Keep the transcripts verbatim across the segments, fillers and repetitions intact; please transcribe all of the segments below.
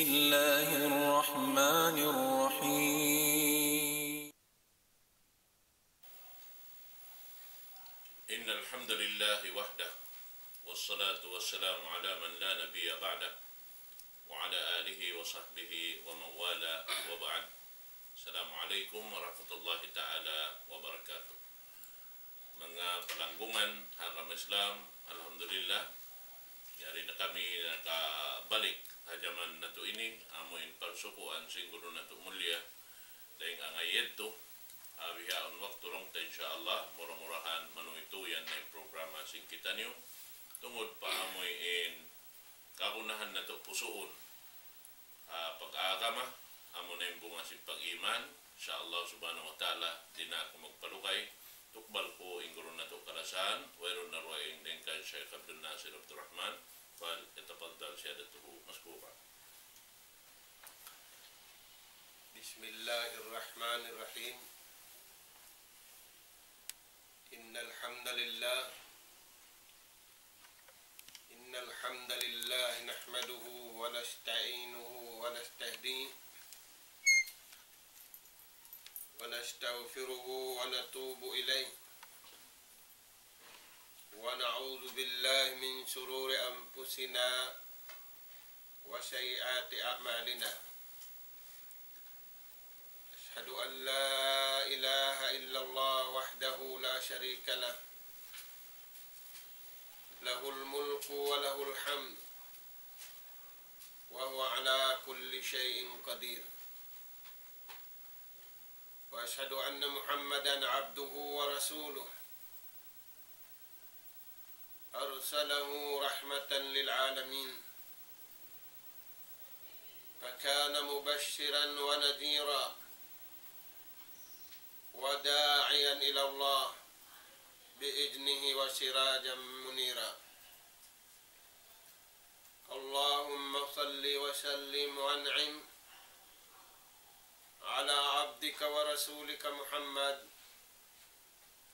الله الرحمن الرحيم. إن الحمد لله وحده، والصلاة والسلام على من لا نبي بعده، وعلى آله وصحبه ومن والاه، وبعد. السلام عليكم ورحمة الله تعالى وبركاته. Manga palanggungan ha agama Islam, alhamdulillah, yari na kami nakabalik ha jaman natu' ini, amu in pagsukuan sin guru natu' mulia, dayn ha ngayad tu, ha bihaun waktu laung ta, insya Allah, mura-murahan manuytuyan na in programa sin kitaniyu, tungud pa amu in kagunahan natu' pusuun ha pag-agama, amu na in bunga sin pag-iman. Insya Allah subhanahu wa ta'ala, di' na aku magpalugay. Tukbal ku in guru natu' kalasahan, wayruun na dugaing dayn kan Sheikh Abdul Nasir Abdul Rahman, فليتفضل سيادته مشكورا. بسم الله الرحمن الرحيم. إن الحمد لله إن الحمد لله نحمده ونستعينه ونستهديه ونستغفره ونتوب إليه، ونعوذ بالله من شرور أنفسنا وسيئات أعمالنا. أشهد أن لا إله إلا الله وحده لا شريك له، له الملك وله الحمد، وهو على كل شيء قدير. وأشهد أن محمدا عبده ورسوله، أرسله رحمة للعالمين، فكان مبشرا ونذيرا، وداعيا إلى الله بإذنه وسراجا منيرا. اللهم صل وسلم وأنعم على عبدك ورسولك محمد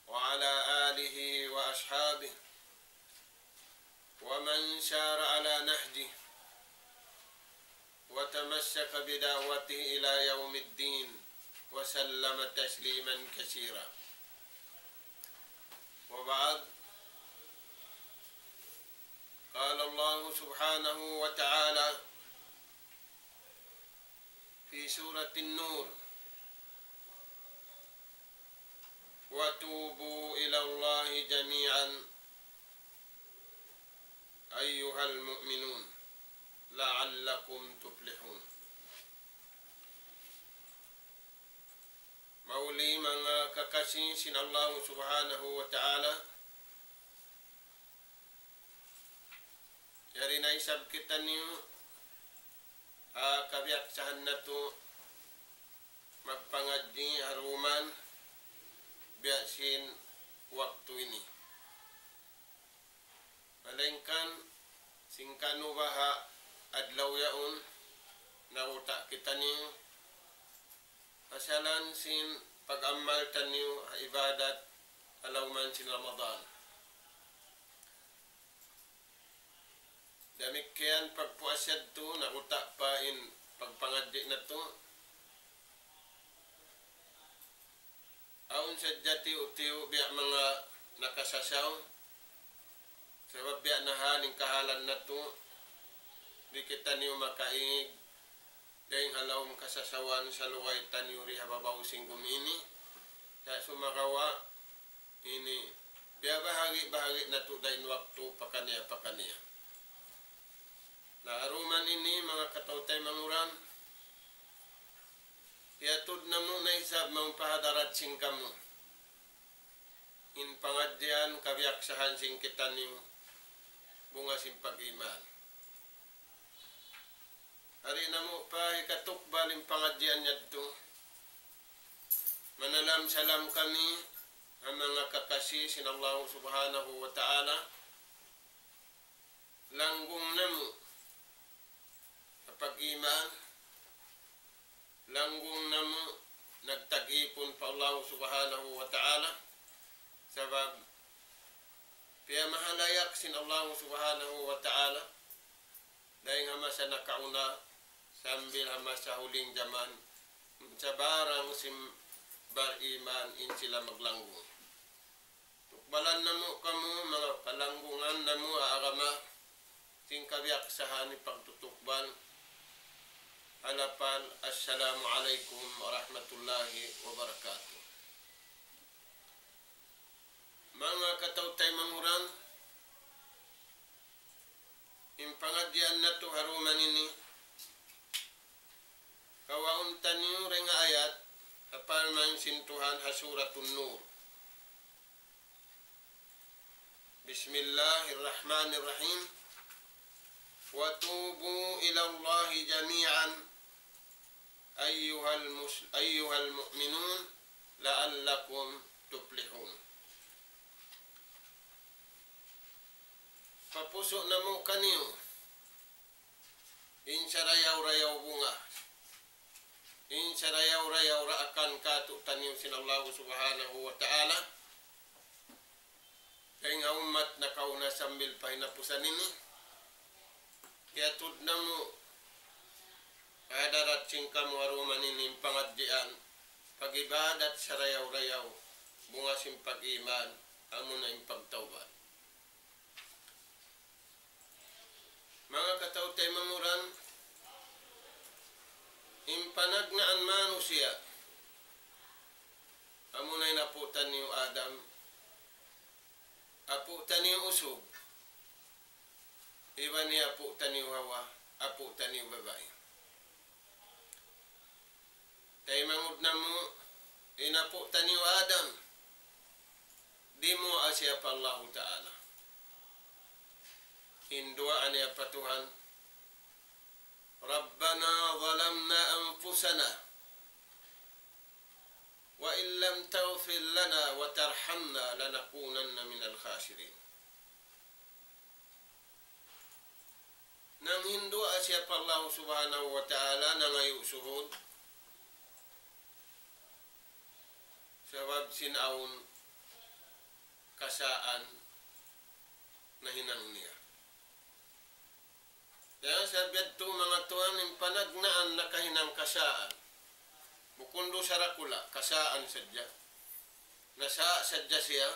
وعلى آله وأصحابه ومن سار على نهجه وتمسك بدعوته إلى يوم الدين وسلم تسليما كثيرا. وبعد، قال الله سبحانه وتعالى في سورة النور: وتوبوا إلى الله جميعا أيها المؤمنون لعلكم تفلحون. Mahuli manga kakasi sin Allah Subhanahu wa Ta'ala, yari na isab kitaniyu ha kabiyaksahan natu' magpangadji' ha dum biya' sin waktu ini. Malaingkan sin kanubaha adlaw yaun naguta' kitaniyu pasalan sin pag-amal taniyu ha ibadat ha lawm sin Ramadan. Damikkiyan pagpuas yadtu, naguta' pa in pagpangadji' natu'. Awn sadja tiyu'-tiyu' biya' manga nakasasaw. Sabab biya' na hal in kahalan natu', di' kitaniyu makaig dayn ha lawm kasasawan salugay taniyu di ha babaw sin gumi ini. Sa' sumagawa' ini, biyabahagi'-bahagi' natu' da in waktu pakaniya-pakaniya. Na, ha dum ini, manga kataw-taymanghuran, hiyatud namu' na isab mawn pa hadarat sin kamu in pangadjian kabiyaksahan sin kitaniyu, bunga sin pag-iman. Yari namu' pa hikatukbal in pangadjian yadtu. Manalam-salam kami ha manga kakasi sin Allah Subhanahu wa Ta'ala. Langgung namu' ha pag-iman, langgung namu' nagtag-ipun pa Allah Subhanahu wa Ta'ala. Sabab piyamahalayak sin Allah Subhanahu wa Ta'ala dayn ha masa nakauna, sa sambil ha masa huling jaman, sabarang sin bariman in sila maglanggung. Tukbalan namu' kamu, manga palanggungan namu' ha agama, sin kabiyaksahan in pagtutukbal. Ha lapal, Assalamu alaykum warahmatullahi wabarakatuh. Manga kataw-taymanghuran, in pangadjian natu' ha dum ini, kawaun taniyu dayn ha ayat, ha parman sin Tuhan ha Suratun Nur. بسم الله الرحمن الرحيم. وتوبوا إلى الله جميعا أيها المس-، أيها المؤمنون لعلكم تفلحون. Papusu' namu' kaniyu in sarayaw-rayaw bunga, in sarayaw-rayaw daakan kātu'niyu sin Allah Subhanahu wa Ta'ala, dayn ha ummat nakauna sambil pa hinapusan ini. Kiyatud namu' ha hadarat sin kamu ha dum ini in pangadjian, pag-ibadat sarayaw-rayaw, bunga sin pag-iman, amuna in pagtawbat. Manga kataw-taymanghuran, in panagnaan manusiya', amuna in apu' taniyu Adam, apu' taniyu usug, iban hi apu' taniyu Hawa, apu' taniyu babai. Taymanghud namu', in apu' taniyu Adam, dimuwaa siya pa Allahu Ta'ala. In duwaa niya pa Tuhan, ربنا ظلمنا أنفسنا وإن لم تغفر لنا وترحمنا لنكونن من الخاسرين. Nanghinduwaa siya pa Allah Subhanahu wa Ta'ala, nangayu' suhud. Sabab sin awn kasaan nahinang niya. Dayn ha sabab yadtu manga tuwan, in panagnaan nakahinang kasaan. Bukun dusa dakula', kasaan sadja. Nasa' sadja siya,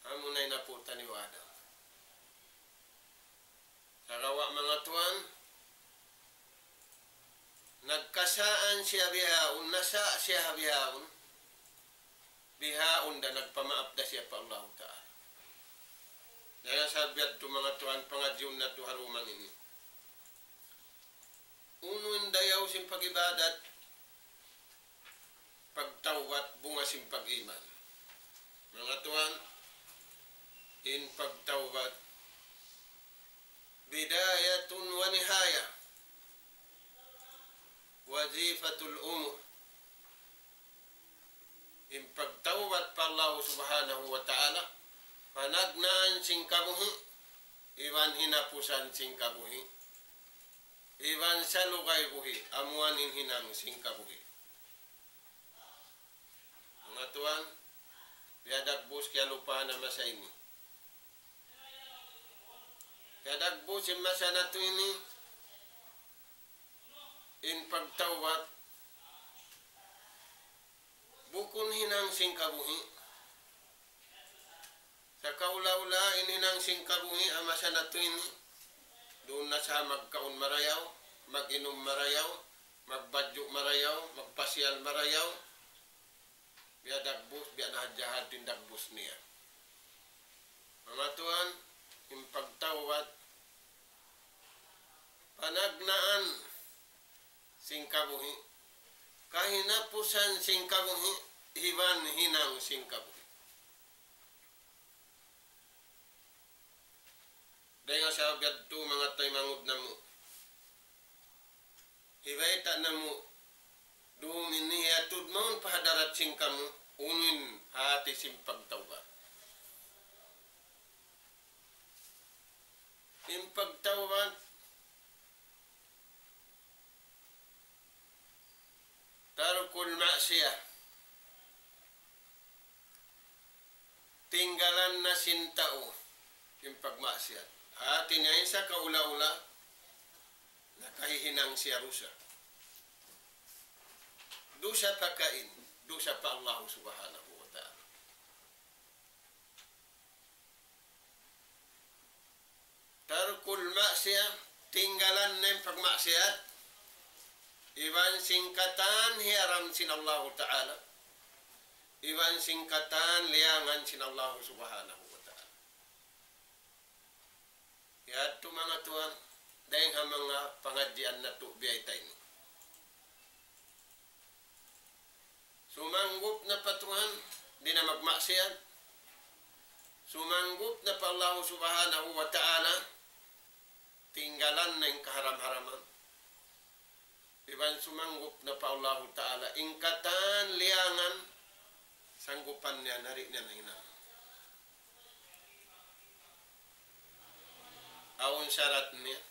amuna in apu' taniyu Adam. Sagawa' manga tuwan, nagkasaan siya bihaun, nasa' siya bihaun, bihaun da nagpamaap da siya pa Allahu Ta'ala. Dayn ha sabab yadtu manga tuwan, pangadjiun natu' ha dum ini. Unu in dayaw sin pag-ibadat, pagtawbat, bunga sin pag-iman. Manga tuwan, in pagtawbat, بداية ونهاية وظيفة الأمور. In pagtawbat pa Allah Subhanahu wa Ta'ala, panagnaan sin kabuhi', iban hinapusan sin kabuhi', iban salugay buhi', amuan in hinang sin kabuhi'. Manga tuwan, biya' dagbus kiyalupahan ha masa ini. Biya' dagbus in masa natu' ini, in pagtawbat, bukun hinang sin kabuhi'. Sakaula-ula in hinang sin kabuhi' ha masa natu' ini, duun na sa magkaun marayaw, mag-inum marayaw, magbadju' marayaw, magpasiyal marayaw. Biya' dagbus, biya' na hadja hadtu in dagbus niya. Manga tuwan, in pagtawbat, panagnaan sin kabuhi', kahinapusan sin kabuhi', iban hinang sin kabuhi'. Dayn ha sabab yadtu manga taymanghud namu', hibayta' namu', dum ini hiyatud mawn pa hadarat sin kamu, unu in hati sin pagtawbat. In pagtawbat, ترك المعصية. Tinggalan na sin tau in pagmaksiyat. Hati niya in sakaula-ula, nakahihinang siya dusa. Dusa pa kain, dusa pa Allah Subhanahu wa Ta'ala. Tarkul maksiyah, tinggalan niya in pagmaksiyat, iban sin katan hiyaram sin Allahu Ta'ala, iban sin katan liyangan sin Allahu Subhanahu wa Ta'ala. Yadtu manga tuwan, dayng ha manga pangadjian natu' biyayta' ini. Sumanggup na pa Tuhan, di' na magmaksiyat. Sumanggup na pa Allah Subhanahu wa Ta'ala, tinggalan na in kaharam-haraman. Iban sumanggup na pa Allahu Ta'ala, in katan liyangan, sanggupan niya na, di' niya na hinang. Awn sarat niya.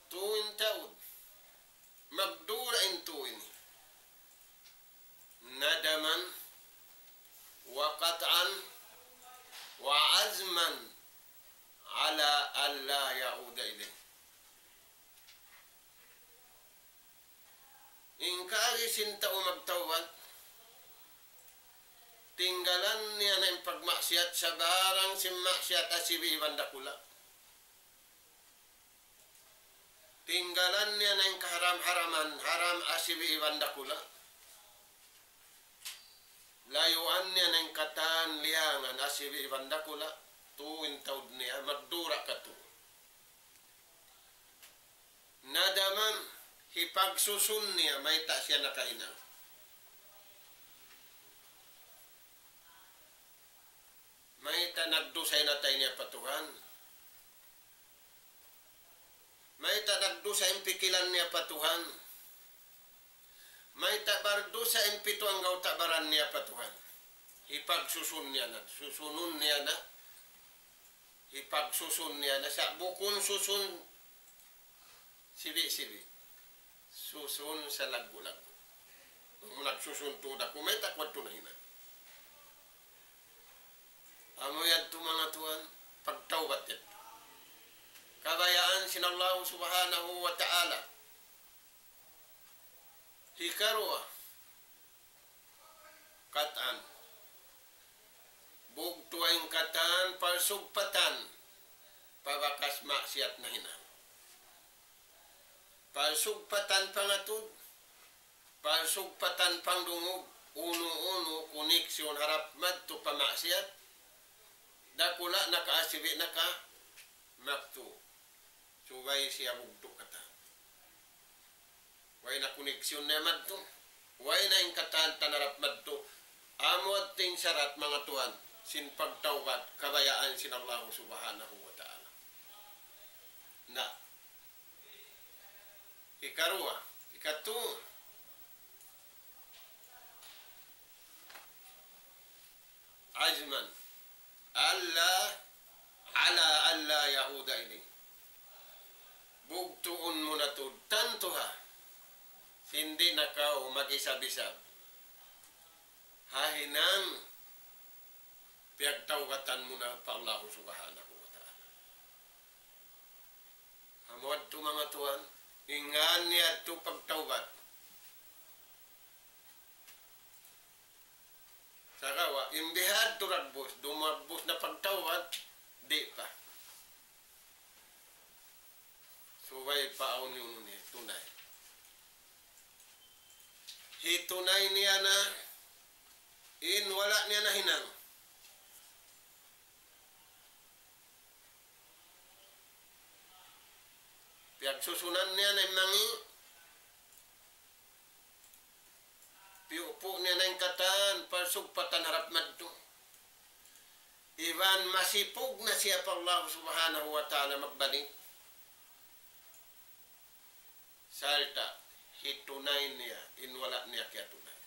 Tuu in taud. Magdura in tuu ini. ندما وقطعا وعزما على ألا يعود إليه. In kaagi sin tau magtawbat, tinggalan niya na in pagmaksiyat, sabarang sin maksiyat asibi' iban dakula'. Tinggalan niya na in kaharam-haraman, haram asibi' iban dakula'. Layuan niya na in katan liyangan asibi' iban dakula', tuu in taud niya, magdura katu'. Nadaman, hipagsusun niya, mayta' siya nakahinang. Mayta' nagdusa in atay niya pa Tuhan. Mayta' nagdusa in pikilan niya pa Tuhan. Mayta' bardusa in pitu anggawta' baran niya pa Tuhan. Hipagsusun niya na, susunun niya na. Hipagsusun niya na sa' bukun susun sibi'-sibi'. Susun salaggu'-laggu'. Bang mu nagsusun tuud aku, mayta' ku adtu nahinang. Amu yadtu manga tuwan, pagtawbat yadtu. Kabayaan sin Allah Subhanahu wa Ta'ala. Hikaruwa, katan. Bugtu' in katan, parsugpatan, pa bakas maksiyat nahinang. Parsugpatan pangatud, parsugpatan pangdungug, unu-unu koneksyon harap madtu pa maksiyat, dakula' na ka asibi' na ka, maktu'. Subay siya bugtu' katan. Way na koneksyon niya madtu. Way na in katan tan harap madtu. Amu yadtu in sarat manga tuwan sin pagtawbat kabayaan sin Allah Subhanahu wa Ta'ala. Na. Hikaruwa, hikatu. عزما ألا على ألا يعود إليه. Bugtuun mu na tuud tantu ha, sin di' na kaw mag-isab-isab ha hinang piyagtawbatan mu na pa Allah Subhanahu wa Ta'ala. Amu yadtu manga tuwan, in ngan niya yadtu pagtawbat. Sagawa', in bihadtu dagbus, dumagbus na pagtawbat, di' pa. Subay pa awn unu niya, tunay. Hitunay niya na, in wala' niya nahinang. Piyagsusunan niya na in mangi', piyupu' niya na in katan, parsugpatan harap madtu. Iban masipug na siya pa Allah Subhanahu wa Ta'ala magbalik. Sarta' hitunay niya in wala' niya kiyatunay.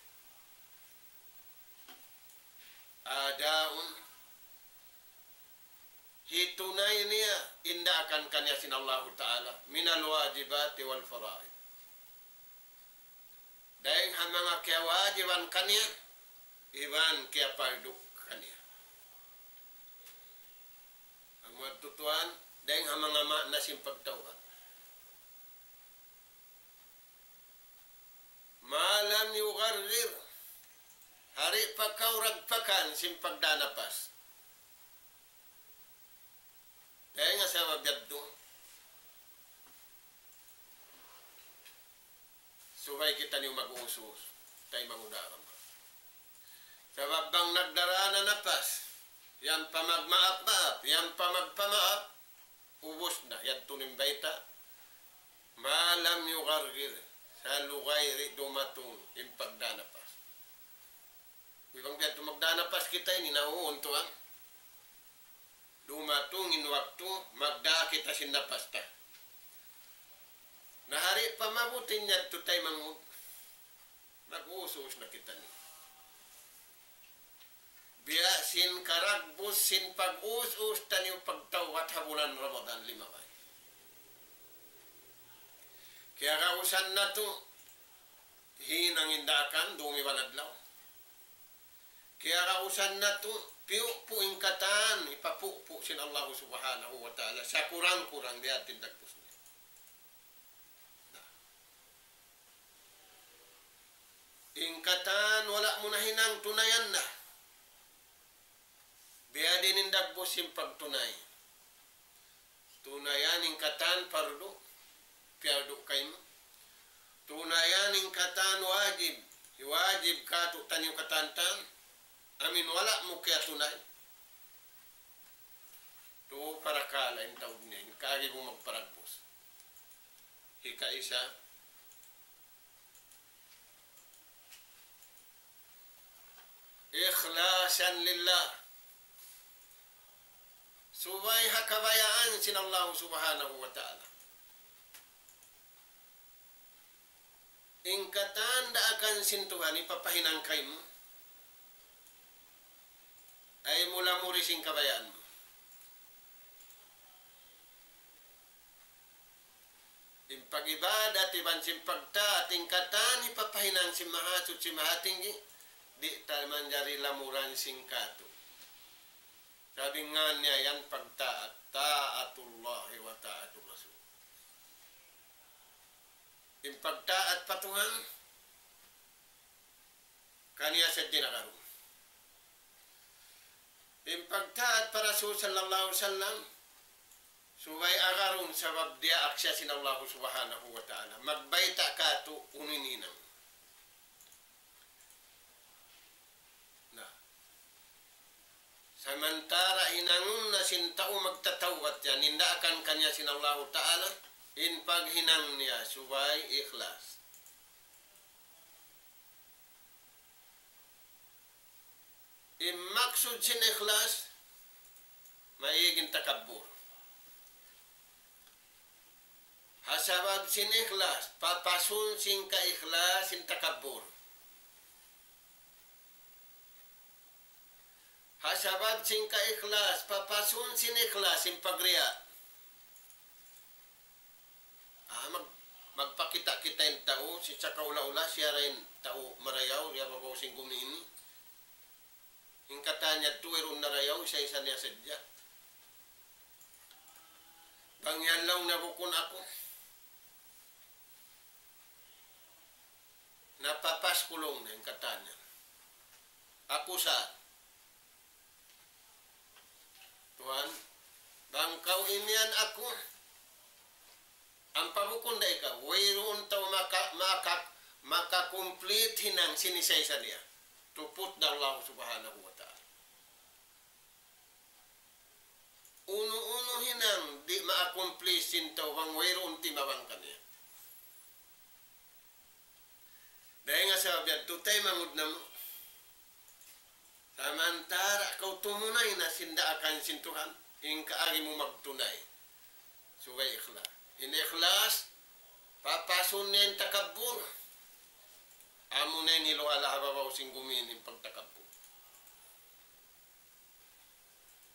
أداء Hitunay niya in daakan kaniya sin Allahu Ta'ala, من الواجبات والفرائض. Dayng ha manga kiyawajiban kaniya, iban kiyapardu kaniya. Amu yadtu tuwan, Dayn ha manga maana sin pagtawbat. ما لم يغرغر. Di' pa kaw ragpakan sin pagdā napas. Dayn ha sabab yadtu, subay kitaniyu mag-us-us, taymanghud agama. Sabab bang nagdarā na napas, yan pa magmaap-maap, yan pa magpamaap, ubus na, yadtu in bayta', ما لم يغرغر, salugay di' dumatung in pagdā napas. Bang biya' tu magdā napas kita ini, nauuntuan. Dumatung in waktu, magdā kita sin napas ta. Na di' pa mabuting yadtu, taymanghud. Mag-us-us na kitaniyu. Biya' sin karagbus sin pag-us-us taniyu pagtawbat ha bulan Ramadan limabay. Kiyarausan natu', hinang in daakan, dum iban adlaw. Kiyarausan natu', piyupu' in katan, hipapupu' sin Allahu Subhanahu wa Ta'ala, sakurang-kurang di' atin dagbus niya. Na. In katan wala' mu na hinang, tunayan na. Biya' diin in dagbus sin pagtunay. Tunayan in katan pardu, piyardu kaymu. Tunayan in katan wajib, wajib kātu'niyu katan-katan, amu in wala' mu kiyatunay. Tu parakala' in taud niya, in kaagi mu magparagbus. Hikaisa, إخلاصا لله. Subay ha kabayaan sin Allah Subhanahu wa Ta'ala. In katan daakan sin Tuhan hipapahinang kaymu, ayaw mu lamuri sin kabayaan mu. In pag-ibadat iban sin pagtaat, in katan hipapahinang sin Mahasuchi Mahatinggi, di' ta manjari lamuran sin kātu'. Sabab in ngan niya yan pagtaat, طاعة الله وطاعة الرسول. In pagtaat pa Tuhan, kaniya sadja in agarun. In pagtaat pa Rasul sallallahu alayhi wasallam, subay agarun sabab diyaak siya sin Allah Subhanahu wa Ta'ala. Magbayta' kātu' unu in hinang. Na. Samantara' hinangun na sin tau magtatawbat yan, in daakan kaniya sin Allahu Ta'ala, in paghinang niya subay ikhlas. In maksud sin ikhlas, maig in takabbur. Ha sabab sin ikhlas, papasun sin kaikhlas in takabbur. Ha sabab sin kaikhlas, papasun sin ikhlas in pagriya'. Ah, mag-, magpakita'-kita' in tau, sin sakaula-ula, siya ra in tau marayaw, ha babaw sin gumi ini. In katan niya tuwi' duun narayaw, isa-isa niya sadja. Bang yan laung niya bukun aku. Napapas ku laung niya in katan niya. Aku sa Tuhan, bang kaw imiyan aku, ampa bukun da ikaw, wayruun tau maka-, maka-, maka-complete hinang sin isa-isa niya. Tuput da Allah Subhanahu wa Ta'ala. Unu-unu hinang di' ma-accomplish sin tau bang wayruun timabang kaniya. Dayn ha sabab yadtu taymanghud namu'. Samantara' kaw tumunay na sin daakan sin Tuhan, in kaagi mu magtunay. Subay ikhlas. In ikhlas, papasun niya in takabbur. Amu na in hiluhala' ha babaw sin gumi ini in pagtakabbur.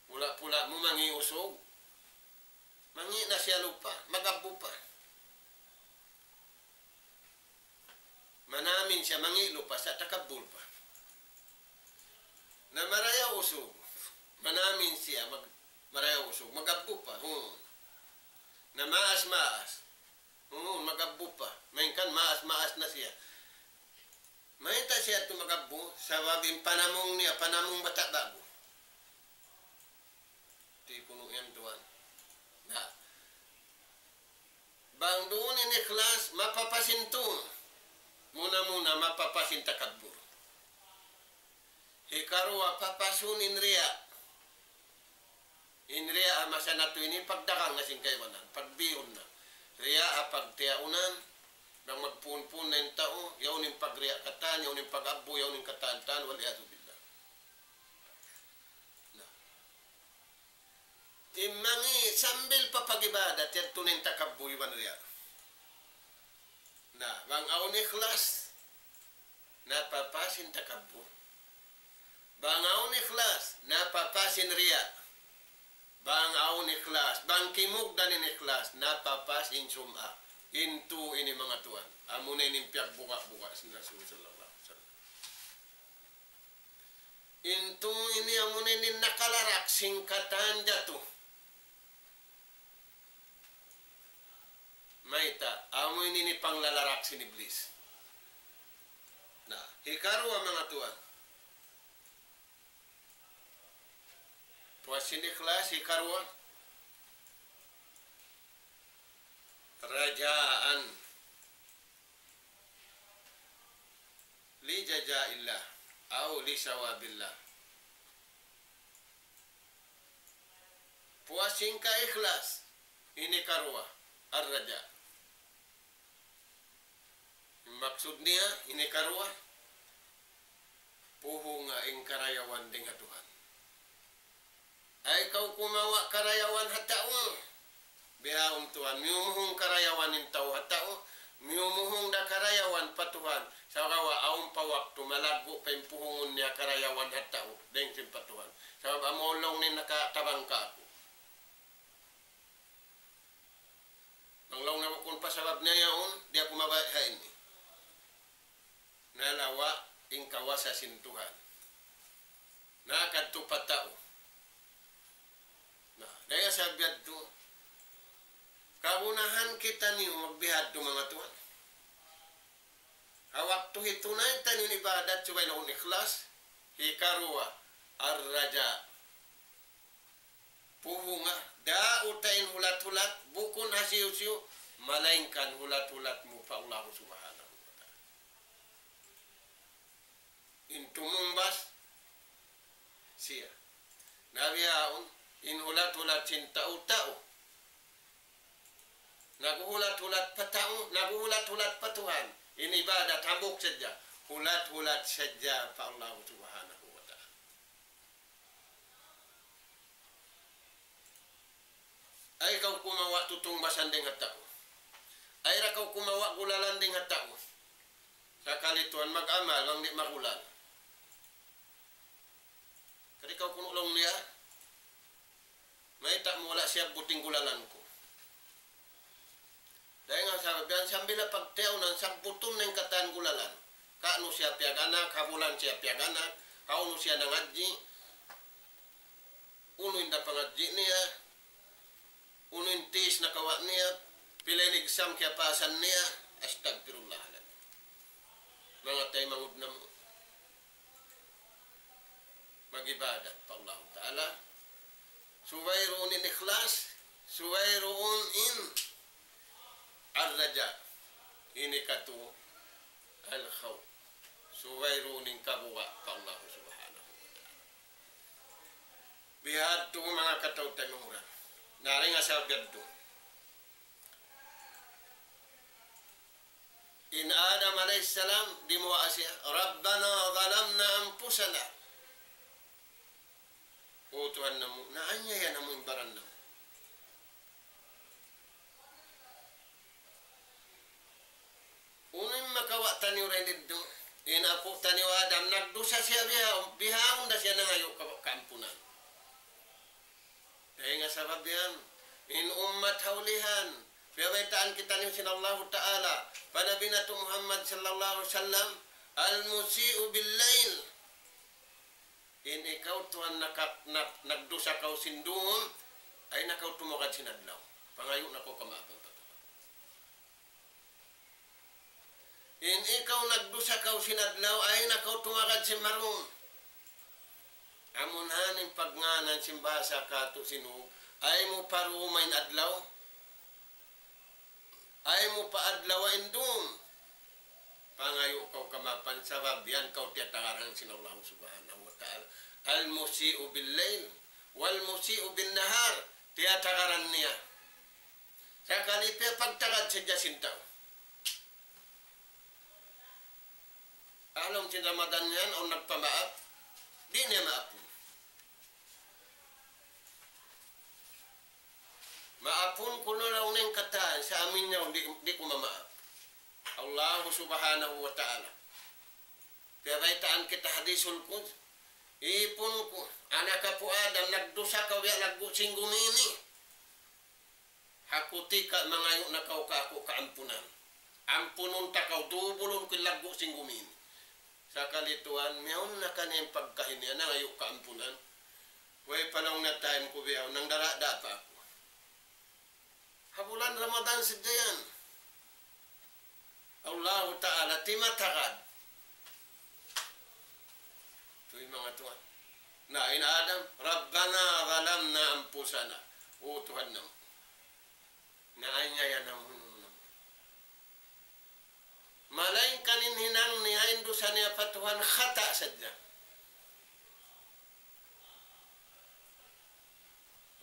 Pula-pula mu mangi' usug. Mangi' na siya lupa, magabbu pa. Manamin siya mangi' lupa sa' takabbur pa. Na marayaw usug. Manamin siya mag-, marayaw usug, magabbu pa. Hmm. Na maas-maas. Hmm, mag-abbu pa. Malayngkan maas-maas na siya. Mayta' siya tu mag-abbu, sabab in panamung niya, panamung bata' ba'gu. Di' kunu' yan tuwan. Na. Bang duun in ikhlas, mapapas in tuud. Muna-muna, mapapas in takabbur. Hikaruwa, papasun in riya'. In riya' ha masa natu' ini pagdagang na sin kaibanan, pagbiun na. Riya' ha pagtiyaunan, bang magpuun-puun na in tau, yaun in pagriya' katan, yaun in pag-abbu, yaun in katan-katan, wal iyadhu billah. Na. Imangī' sambil pa pag-ibadat, yadtu na in takabbur iban riya'. Na, bang awn ikhlas, napapas in takabbur. Bang awn ikhlas, napapas in riya'. Bang awn ikhlas, bang kimugdan in ikhlas, napapas in sum'ah. In tū ini manga tuwan. Amuna in piyagbuga'-buga' sin Rasul sallallahu alayhi wasallam. In tū ini amuna in nakalarak sin katan jatu. Mayta', amu ini in panglalarak sin Iblis. Na, hikaruwa manga tuwan. Puas sin ikhlas, hikaruwa. Rajaan. Li jazaillah. Aw li sawabillah. Puas sin kaikhlas, ini karuwa, ar-raja. Maksud niya, ini karuwa, puhunga in karayawan dayn ha Tuhan. Ay kaw kumawa' karayawan ha tau. Bihaun tuwan, miyumuhung karayawan in tau ha tau, miyumuhung da karayawan pa Tuhan. Sagawa' awn pa waktu malaggu' pa in puhungun niya karayawan ha tau, dayn sin pa Tuhan. Sabab amu laung niya nakatabang kāku'. Bang laung niya bukun pa sabab niya yaun, di' aku mabaya' ha ini. Nalawa' in kawasa sin Tuhan. Nakadtu pa tau. Na, dayn ha sabab yadtu, kagunahan kitaniyu magbihadtu manga tuwan. Ha waktu hitunay taniyu in ibadat subay na awn ikhlas, hikaruwa, ar-raja. Puhunga, daun ta in hulat-hulat, bukun hisiyu-siyu, malaingkan hulat-hulat mu pa Allah Subhanahu wa Ta'ala. In tumungbas, siya. Na bihaun, in hulat-hulat sin tau-tau. Naghuhulat-hulat pa tau, naghuhulat-hulat pa Tuhan. In ibadat hambuuk sadja. Hulat-hulat sadja pa Allah Subhanahu wa Ta'ala. Ay kaw kumawa' tutungbasan dayn ha tau. Ay da kaw kumawa' gulalan dayn ha tau. Sakali tuwan mag-amal, bang di' magulal. Kari kaw kunu' laung niya, mayta' mu wala' siyabbut in gulalan ku. Dayn ha sabab yan, sambil na pagtiyaunan, sabbutun na in katan gulalan. Kaunu siya piyag-anak, ha bulan siya piyag-anak, hawnu siya nangadji', unu in da pangadji' niya, unu in test nakawa' niya, pila in exam kiyapasan niya, astagfirullahaladzim. Manga taymanghud namu'. Mag-ibadat pa Allah Ta'ala. Subay duun in ikhlas, subay duun in ar-raja. Ini katu al-khawf. Subay duun in kabuga' pa Allah Subhanahu wa Ta'ala. Bihadtu manga kataw-taymanghuran. Na dayn ha sabab yadtu. In Adam alayhi salam, dimuwaa siya, رَبَّنَا ظَلَمْنَا أَنْفُسَنَا. O Tuhan namu', naanyaya namu' in baran namu'. Unu in makawa' taniyu dayn didtu? In apu' taniyu Adam, nagdusa siya biha-, bihaun da siya nangayu' ka-, kaampunan. Dayn ha sabab yan, in ummat ha ulihan, piyabaytaan kitaniyu sin Allahu Ta'ala, pa Nabi natu' Muhammad sallallahu alayhi wasallam, المسيء بالليل. In ikaw tuwan naka-, na-, nagdusa kaw sin duun, ay na kaw tumugad sin adlaw. Pangayu' na kaw kamaapan pa Tuhan. In ikaw nagdusa kaw sin adlaw, ayaw na kaw tumagad sin marum. Amu na in pagngānan sin bahasa katu' sin Hug, ayaw mu pa ruma in adlaw. Ayaw mu pa adlaw in dum. Pangayu' kaw kamaapan sabab yan kaw tiyatagaran sin Allah Subhanahu wa Ta'ala. المسيء بالليل والمسيء بالنهار. Tiyatagaran niya. Sakali piyapagtagad sadja sin tau. Ha lawm sin Ramadan yan, awn nagpamaap, di' niya maapun. Maapun ku na laung niya in katan, sa' amin niya, di', di' ku mamaap. Allahu Subhanahu wa Ta'ala. Piyabaytaan kita hadisul Quds-, ipun ku, anak apu' Adam, nagdusa kaw biya' laggu' sin gumi ini. Ha kutika mangayu' na kaw kāku' kaampunan. Ampunun ta kaw, dubulun ku in laggu' sin gumi ini. Sakali tuwan, miyawn na kaniya in pagkahi niya, nangayu' kaampunan. Way pa laung niya time ku bihaun, nangdara' da pa aku. Ha bulan Ramadan sadja yan. Allahu Ta'ala timatagad. Tuy manga tuwan. Na, in Adam, ربنا ظلمنا أنفسنا. O Tuhan namu'. Naanyaya namu', namu'. Malaingkan in hinang niya, in dusa niya pa Tuhan, khata' sadja.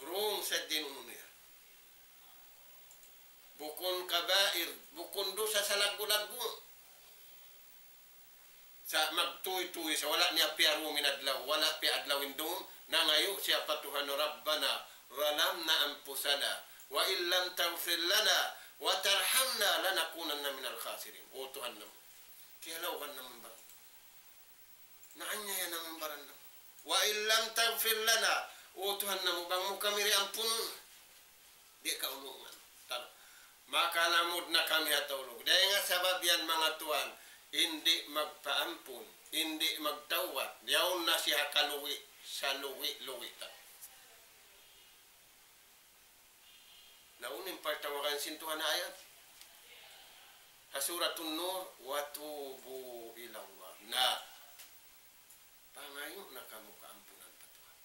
Wrong sadja in unu niya. Bukun kabair, bukun dusa salaggu'-laggu'. Sa' magtuy-tuy sa' wala' niya piyarumin adlaw, wala' piyaadlawin dum, nangayu' siya pa Tuhan, ربنا ظلمنا أنفسنا وإن لم تغفر لنا وترحمنا لنكونن من الخاسرين. O Tuhan namu', kiyalawgan namu' in baran. Naanyaya namu' in baran namu'. وإن لم تغفر لنا, O Tuhan namu', bang mu kami di' ampunun. Di' kaulungan. Tar-, makalamud na kami ha tulug. Dayn ha sabab yan, manga tuwan, in di' magpaampun, in di' magtawbat, yaun na siya ha kalugi', salugi'-lugi' ta. Na unu in pagtawagan sin Tuhan ha ayat? Ha Suratun Nur, وتوبوا إلى الله. Na, pangayu' na kamu kaampunan pa Tuhan.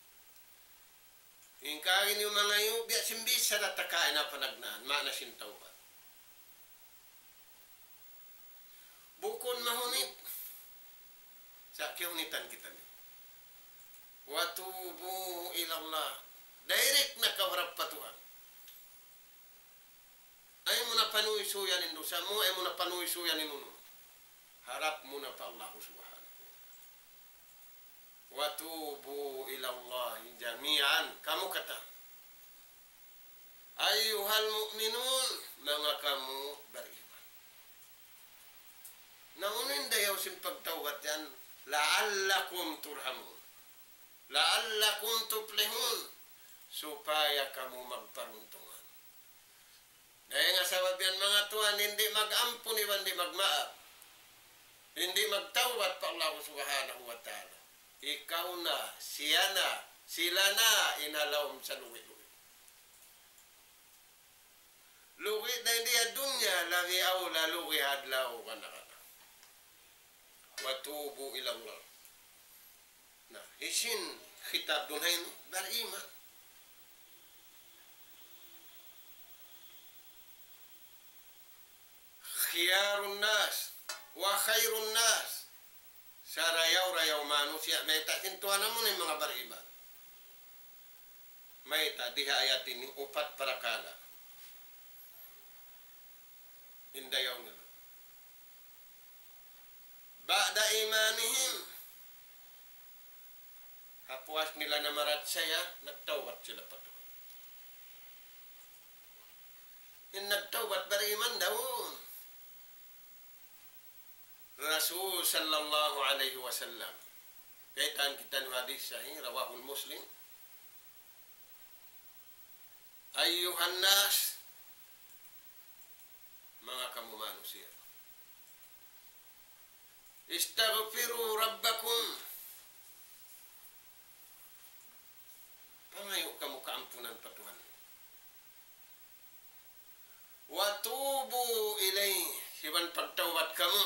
In kaagi niyu mangayu', biya' sin bichara ta kaina panagnaan, maana sin tawbat. Bukun mahunit. Sa' kiyahunitan kitaniyu. وتوبوا إلى الله. Direct na kaw harap pa Tuhan. Ayaw mu na panuysuyan in dusa mu, ayaw mu na panuysuyan in unu. Harap mu na pa Allah Subhanahu wa Ta'ala. وتوبوا إلى الله جميعا. Kamu katan. أيها المؤمنون, manga kamu bariman. Na unu in dayaw sin pagtawbat yan, لعلكم ترحمون. لعلكم تفلحون. Supaya kamu magparuntungan. Dayn ha sabab yan, manga tuwan, in di' mag-ampun iban di' magmaap, in di' magtawbat pa Allah Subhanahu wa Ta'ala, ikaw na, siya na, sila na in ha lawm salugi'-lugi'. Lugi' dayn di ha dunya, labi awla lugi' ha adlaw kana-kana. وتوبوا إلى الله. Na, hisiyu in khitab duun ha ini? Bariman. خيار الناس وخير الناس. Sarayaw-rayaw manusiya', mayta' sin Tuhan namu' in manga bariman. Mayta', di ha ayat ini, upat parakala' in dayaw nila. بعد إيمانهم. Ha puas nila namarachaya, nagtawbat sila pa Tuhan. In nagtawbat bariman daw. Rasul sallallahu alayhi wasallam. Kaitan kitaniyu hadis sahih, رواه مسلم. أيها الناس, manga kamu manusiya'. استغفروا ربكم. Pangayu' kamu kaampunan pa Tuhan. Tubu ilayhi, iban pagtawbat kamu.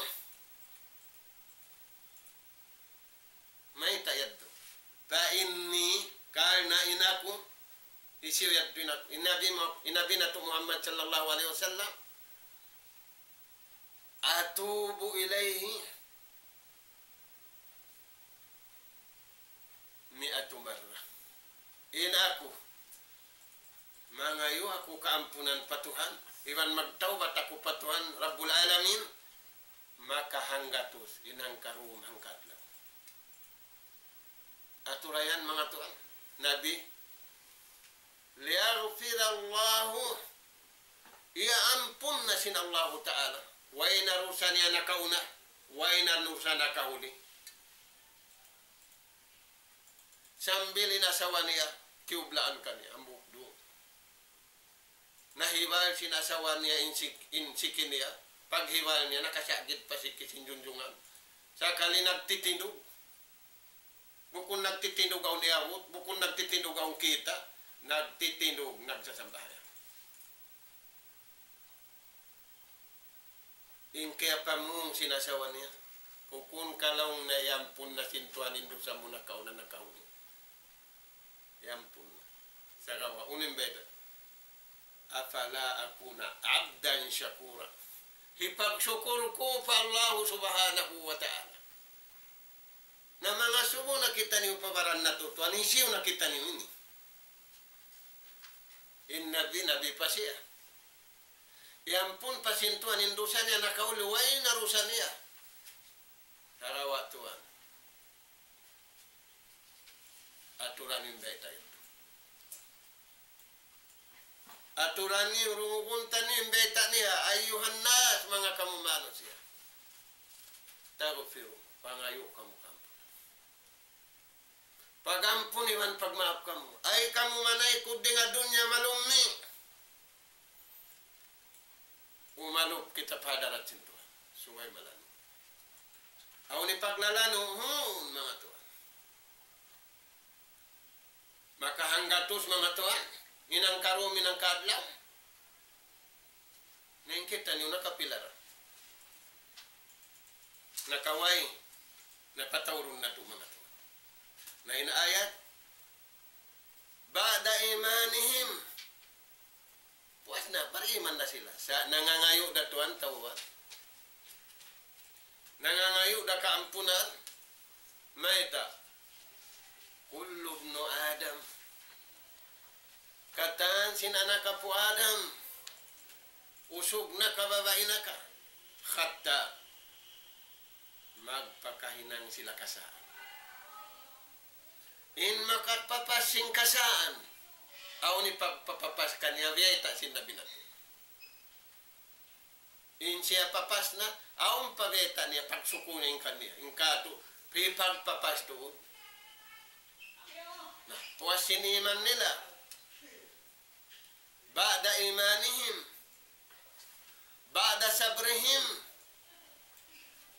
Mayta' yadtu? Fa inni, karna' in aku, hisiyu yadtu in aku, in Nabi Mu-, in Nabi natu' Muhammad sallallahu alayhi wasallam, atubu ilayhi mi'ata marra. In aku, mangayu' aku kaampunan pa Tuhan, iban magtawbat aku pa Tuhan, Rabbul Alamin, maka hanggatus, in hangkarum hangkadlaw. Atura yan, manga tuwan. Nabi, liyaghfirallahu, iyaampun na sin Allahu Ta'ala. Way na dusa niya nakauna, way na dusa nakahuli. Sambil in asawa niya, kiyublaan kaniya, hambuuk duun. Nahibal sin asawa niya in sik-, in siki niya. Paghibal niya, nakasagid pa siki sin junjungan. Sakali nagtitindug. Bukun nagtitindug awn iyabut, bukun nagtitindug awn kita', nagtitindug, nagsasambahayang. In kiyapamung sin asawa niya, bukun ka laung niya, iyampun na sin Tuhan in dusa mu nakauna nakahuli. Iyampun na. Sagawa', unu in bayta'? Afala akuna abdan shakura. Hipagsukul ku pa Allahu Subhanahu wa Ta'ala. Na mangasubu na kitaniyu pa baran natu', Tuhan, hisiyu na kitaniyu ini? In Nabi, Nabi pa siya. Iyampun pa sin Tuhan in dusa niya, nakahuli, way na dusa niya. Sagawa', Tuhan, aturan in bayta' yadtu. Aturan niyu, dungugun taniyu in bayta' niya, ayyuhan nas, manga kamu manusiya'. Taghfiru, pangayu' kamu kaampunan. Pag-ampun iban pagmaap kamu. Ay kamu manaykud dayn ha dunya malummi'. Umalup kita pa hadarat sin Tuhan. Subay malanu'. Awn in paglalanu'un, manga tuwan. Maka hanggatus, manga tuwan, in hangkarum, in hangkaadlaw. Na in kitaniyu nakapila ra. Nakaway, napataurun natu', manga tuwan. Na in ayat, ba'da imanihim. Puas na, bariman na sila. Sa' nangangayu' da tuwan tawbat. Nangangayu' da kaampunan. Mayta'? Kullu ibnu Adam. Katan sin anak apu' Adam. Usug na ka, babai na ka. Khatta'. Magpakahinang sila kasaan. In makapapas sin kasaan, awn in pagpapapas kaniya, biyayta' sin Nabi natu'. In siya papas na, awn pa biyayta' niya, pagsukul niya in kaniya, in katu', pagpapas tuud. Na, puas sin iman nila. Ba'da imanihim. Ba'da sabrihim.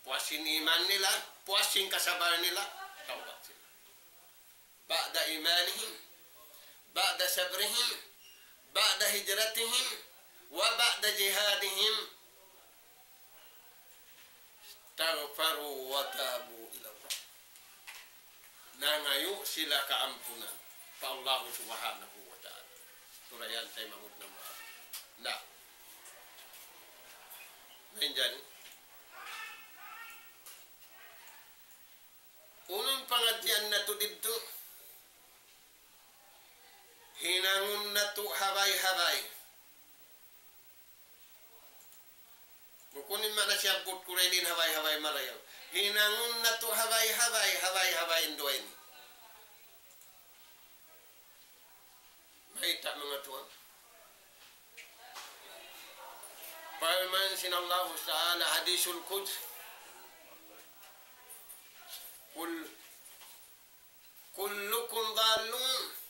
Puas sin iman nila, puas sin kasabal nila, tawbat sila. Ba'da imanihim. Ba'da sabrihim. Ba'da hijratihim. Wa ba'da jihadihim. Istaghfaru wa tabu ila Allah. Nangayu' sila kaampunan pa Allahu Subhanahu wa Ta'ala. Turayan tay mamud na maaf. Na. Mainjani. Unu in pangadjian natu' didtu? Hinangun natu' habay-habay. Bukun in maana siyabbut ku ra ini in habay-habay marayaw. Hinangun natu' habay-habay, habay-habay in duwa ini. Mayta', manga tuwan? Parman sin Allahu Ta'ala, Hadisul Qudsi. Kul-, kullukum dallun.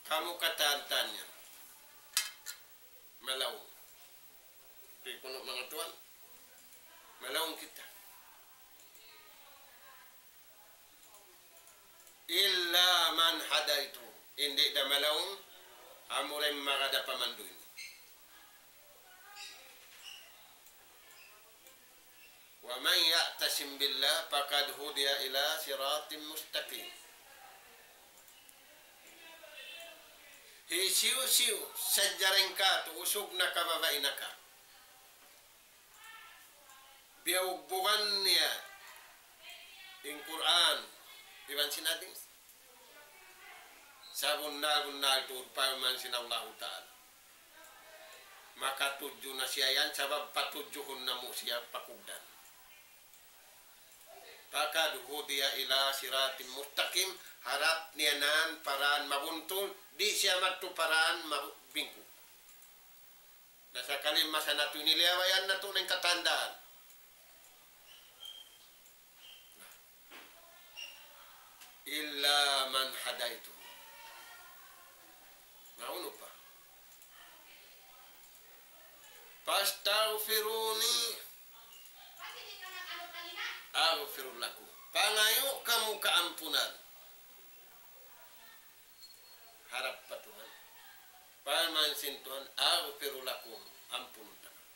Kamu katan-katan yan malaung. Di' kunu', manga tuwan, malaung kita. Illa man hadaytu. Di' da malaung, amura in magad ha pamandu' ini. ومن يعتصم بالله فقد هدي إلى صراط مستقيم. Hisiyu-siyu sadja dayn kātu', usug na ka, babai na ka, biyugbugan niya in Qur'an iban sin hadith, sabunnal-bunnal tuud parman sin Allahu Ta'ala, makatudju na siya yan, sabab patudjuhun namu' siya pakugdan. فقد هدي إلى صراط مستقيم, harap niya na in paraan mabuntul, di' siya madtu paraan mabingku. Na sakali masa natu' ini, liyabayan natu' na in katandaan. إلا من هديته. Na unu pa? فاستغفروني أغفر لكم. Pangayu' kamu kaampunan. Harap pa Tuhan. Parman sin Tuhan, أغفر لكم, ampunun ta kamu.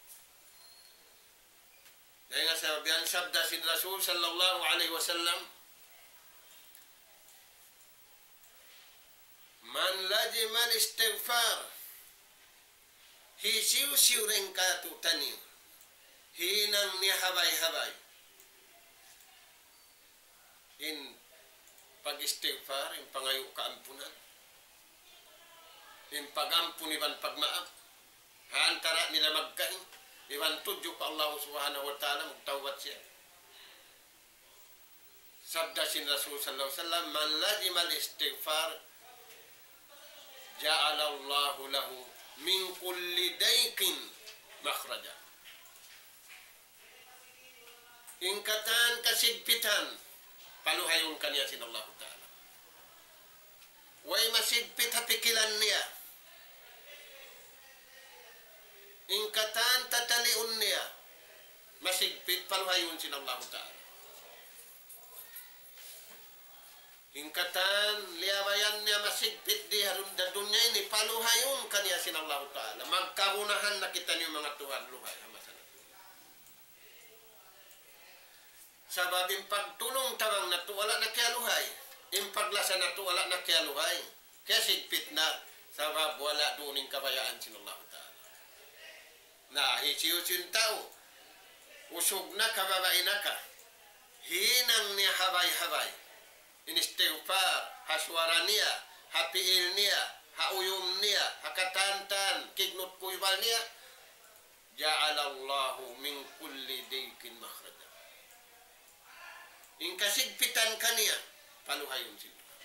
Dayn ha sabab yan, sabda sin Rasul sallallahu alayhi wasallam, من لزم الاستغفار, hisiyu-siyu dayn kātu'niyu hinang niya habay-habay in pag-istighfar, in pangayu' kaampunan, in pag-ampun iban pagmaap, ha antara' nila magkahi, iban tudju pa Allah Subhanahu wa Ta'ala, magtawbat siya. Sabda sin Rasul sallallahu alayhi wasallam, من لزم الاستغفار جعل الله له من كل ضيق مخرجا. In katan kasigpitan, paluhayun kaniya sin Allahu Ta'ala. Way masigpit ha pikilan niya. In katan tataliun niya, masigpit, paluhayun sin Allahu Ta'ala. In katan liyabayan niya masigpit di ha dun-, ha dunya ini, paluhayun kaniya sin Allahu Ta'ala. Magkagunahan na kitaniyu manga tuwan, luhay ha masa natu'. Sabab in pagtulung-tabang natu' wala' na kiyaluhay. In paglasa natu' wala' na kiyaluhay. Kiyasigpit na. Sabab wala' duun in kabayaan sin Allahu Ta'ala. Na, hisiyu-siyu in tau, usug na ka, babai na ka, hinang niya habay-habay in istighfar, ha suwara niya, ha piil niya, ha uyum niya, ha katantan, kignut kuybal niya, جعل الله من كل ضيق مخرجا. In kasigpitan kaniya, paluhayun sin Tuhan.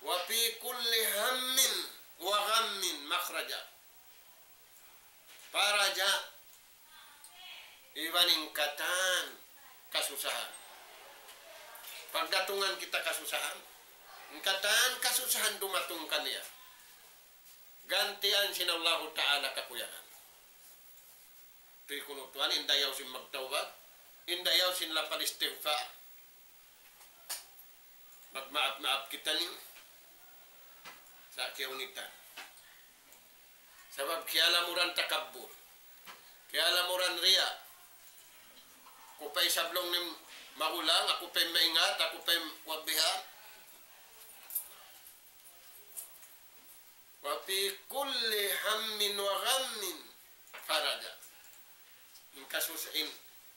وفي كل هم وغم مخرجا. Faraja, iban in katan kasusahan. Pagdatungan kita kasusahan, in katan kasusahan dumatung kaniya, gantian sin Allahu Ta'ala kakuyagan. Tuy kunu' tuwan, in dayaw sin magtawbat, in dayaw sin lapal istighfar. Magmaap-maap kita ini sa' kiyahunitan. Sabab kiyalamuran takabbur. Kiyalamuran riya. Aku pa in sablung ini magulang, aku pa in maingat, aku pa in kuwan biha'. وفي كل هم وغم فرجا. In kasus-, in,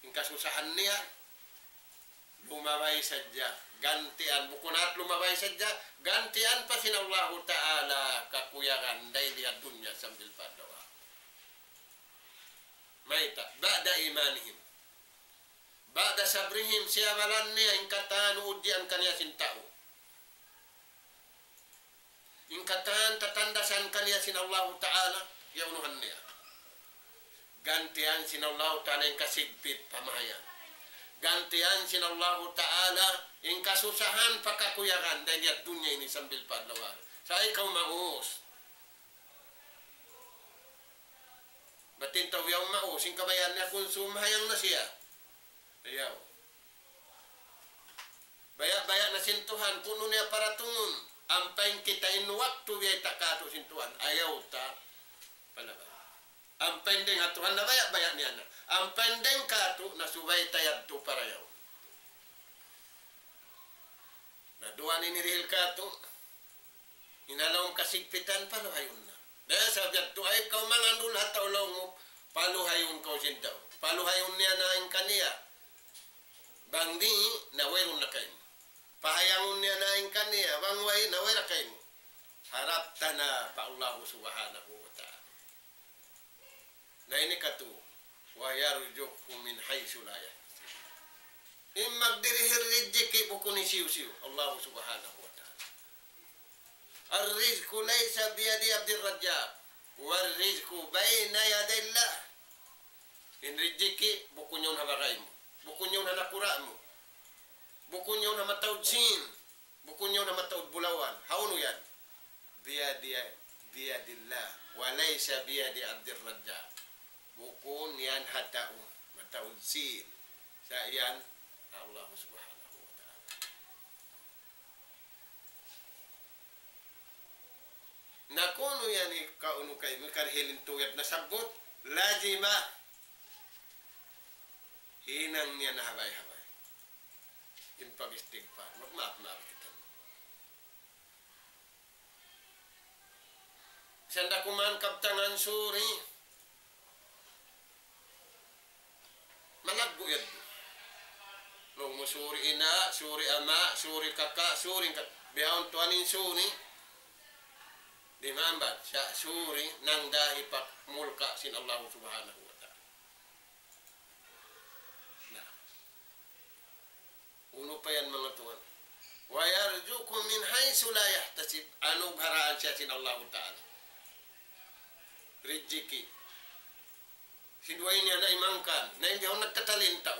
in kasusahan niya, lumabay sadja, gantian, bukun hat lumabay sadja, gantian pa sin Allahu Ta'ala kakuyagan dayn di ha dunya sambil pa adlaw. Mayta', بعد إيمانهم. بعد صبرهم, siyabalan niya in katan ujian kaniya sin tau. In katan tatandasan kaniya sin Allahu Ta'ala, iyaunuhan niya. Gantian sin Allahu Ta'ala in kasigpit pa mahayang. Gantian sin Allahu Ta'ala in kasusahan pa kakuyagan dayn di ha dunya ini sambil pa adlaw ahirat. Sa' ikaw maus. Bat in tau yaun maus, in kabayaan niya kunsum mahayang na siya. Ayaw. Baya'-baya' na sin Tuhan, kunu' niya paratungun, ampa in kita in waktu biyayta' kātu' sin Tuhan, ayaw ta palabay. Ampa in dayng ha Tuhan nabaya'-baya' niya na. Ampa in dayng kātu' na subay ta yadtu parayaw. Na duwa ini dihil kātu'. In ha lawm kasigpitan, paluhayun na. Dayn ha sabab yadtu, ayaw kaw mangandul ha tau laung mu, paluhayun kaw sin tau. Paluhayun niya na in kaniya. Bang di', na wayruun na kaymu. Pahayangun niya na in kaniya, bang way, na way na kaymu. Harap ta na pa Allahu Subhanahu wa Ta'ala. Na ini katu, ويرزقه من حيث لا يحتسب. In magdirihil rijiki' bukun hisiyu-siyu, Allah Subhanahu wa Ta'ala. الرزق ليس بيد عبد الرزاق، والرزق بين يدي الله. In rijiki' bukun yaun ha bagay mu, bukun yaun ha nakura' mu, bukun yaun ha mataud Sin, bukun yaun ha mataud bulawan. Hawnu yan? بيد، بيد الله، وليس بيد عبد الرزاق. Bukun yan ha tau mataud Sin. Sa' yan ha Allah Subhanahu wa Ta'ala. Na kunu' yan ikaw unu kay, mikarihil in tuyat nasabbut, lazima hinang niya na habay-habay in pag-istigfar. Magmaap-maap kita. Sanda kuman kabtangan suri. Malaggu' yadtu. Laung mu suri ina', suri ama', suri kaka', suri ka-, bihaun tuwan in suri. Di' maambat, sa' suri nang dahi pa mulka' sin Allah Subhanahu wa Ta'ala. Na. Unu pa yan, manga tuwan? ويرزقه من حيث لا يحتسب. Anugharaan siya sin Allahu Ta'ala rijiki'. Sin duwa ini na imangkan. Na in bihaun nagtatali in tau.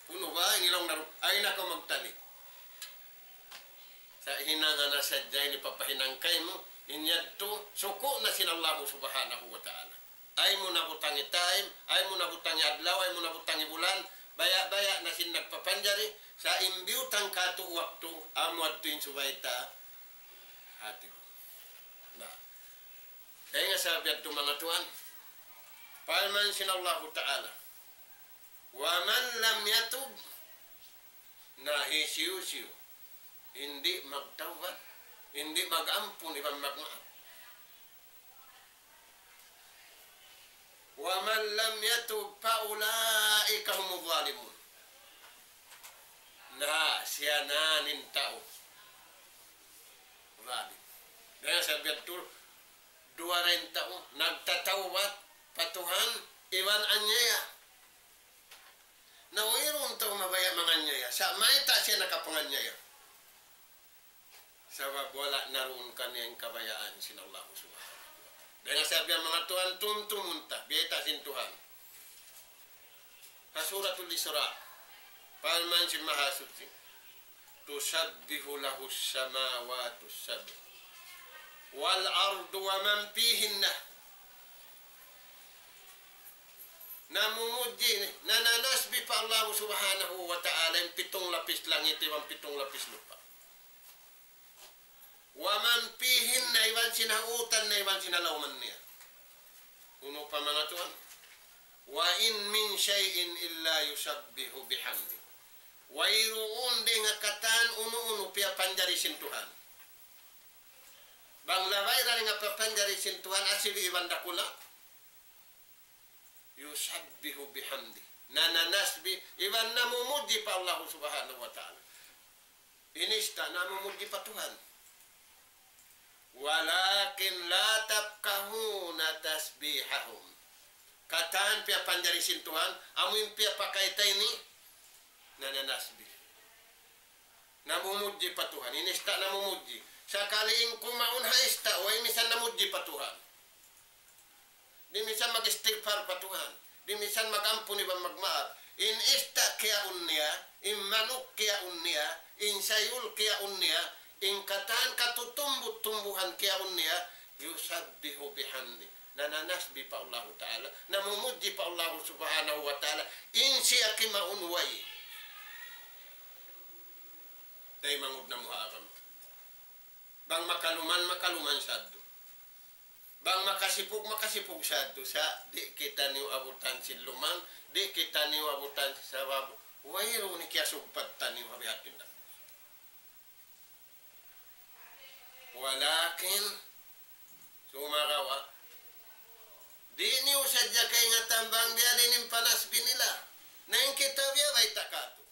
Unu ba, ini laung naru-, ay na kaw magtali. Sa' hinanga na sadja ini papahinang kaymu, in yadtu, suku' na sin Allahu Subhanahu wa Ta'ala. Ay mu na butangi time, ay mu na butangi adlaw, ay mu na butangi bulan, baya'-baya' na sin nagpapanjari, sa' in biyutang kātu' waktu, amu yadtu in subay ta hati. Na. Dayn ha sabab yadtu, manga tuwan, parman sin Allahu Ta'ala, ومن لم يتب, na hisiyu-siyu in di' magtawbat, in di' mag-ampun iban magmaap. ومن لم يتب فأولئك هم الظالمون. Na, siya na in tau zalim. Dayn ha sabab yadtu, duwa ra in tau nagtatawbat pa Tuhan iban anyaya. Na wayruun tau mabaya' manganyaya. Sa' mayta' siya nakapangannyaya? Sabab wala' na duun kaniya in kabayaan sin Allah Subhanahu wa Ta'ala. Dayn ha sabab yan, manga tuwan, tumtumun ta, biyayta' sin Tuhan. Ha Suratul Isra, parman sin Mahasuchi, تسبح له السماوات السبع والأرض ومن فيهن. Namumudji, nananasbih pa Allah Subhanahu wa Ta'ala in pitung lapis langit iban pitung lapis lupa'. ومن فيهن, iban sin ha utan na iban sin ha lawman niya. Unu pa, manga tuwan? وإن من شيء إلا يسبح بحمده. Wayruun dayn ha katan unu-unu piyapanjari sin Tuhan. Bang labay ra dayn ha piyapanjari sin Tuhan, asibi' iban dakula'. يسبح بحمده. Nananasbih, iban namumudji pa Allah Subhanahu wa Ta'ala. In ista' namumudji pa Tuhan. ولكن لا تفقهون تسبيحهم. Katan piyapanjari sin Tuhan, amu in piyapakay ta ini, nananasbih. Namumudji pa Tuhan, in ista' namumudji. Sakali in kumaun ha ista', way misan namudji pa Tuhan. Di' misan mag-istigfar pa Tuhan. Di' misan mag-ampun iban magmaap. In ista' kiyaun niya, in manuk kiyaun niya, in sayul kiyaun niya, in katan katutumbu-tumbuhan kiyaun niya, يسبح بحمده. Nananasbih pa Allahu Ta'ala. Namumudji pa Allahu Subhanahu wa Ta'ala. In siya kimaun way. Taymanghud namu' ha agama. Bang makaluman, makaluman sadtu. Bang makasipug, makasipug sadtu sa, di' kitaniyu abutan sin lumang, di' kitaniyu abutan sin sabab, wayruun kiyasugpatan niyu ha bihaun na. Walakin, sumagawa', di' niyu sadja kaingatan bang biya' diin in panasbih nila. Na in kita biya' bayta' katu'.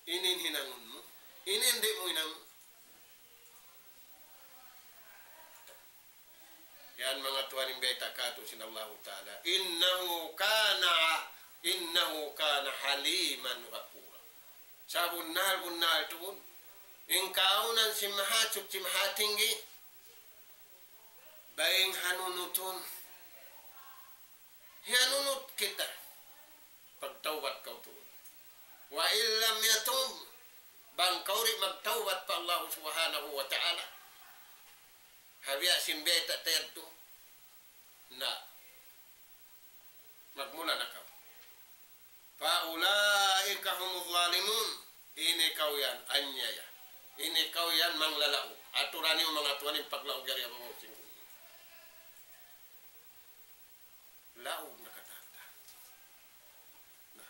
Ini in hinangun mu, ini in di' mu hinangun. Yan manga tuwan in bayta' katu' sin Allahu Ta'ala. إنه كان، إنه كان حليما غفورا. Sabunnal-bunnal tuud, in kaawnan sin Mahasuchi Mahatinggi, bang hanunutun, hiyanunut kita, pagtawbat kaw tuud. وإن لم يتب, bang kaw di' magtawbat pa Allah Subhanahu wa Ta'ala, ha biya' sin bayta' ta yadtu, na, magmula na kaw. فأولئك هم الظالمون. Ini kaw yan, anyaya. Ini kaw yan, manglalaug. Aturan niyu manga tuwan in paglaug yari ha babaw sin gumi. Laug na katan ta. Na.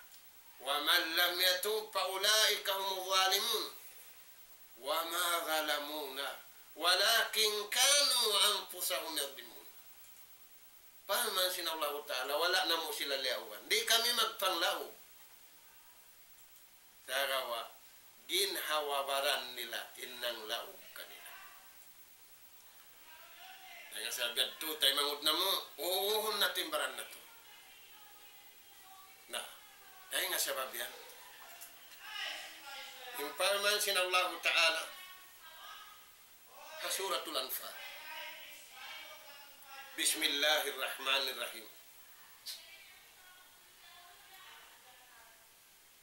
ومن لم يتب فأولئك هم الظالمون. وما ظلمونا ولكن كانوا أنفسهم يظلمون. Parman sin Allahu Ta'ala, wala' namu' sila liyaugan. Di' kami magpanglaug. Sagawa', ginhawa-baran nila in nanglaug kanila. Dayn ha sabab yadtu, taymanghud namu', uuhun natu' in baran natu'. Na, dayn ha sabab yan. In parman sin Allahu Ta'ala, ha Suratul Anfal. بسم الله الرحمن الرحيم.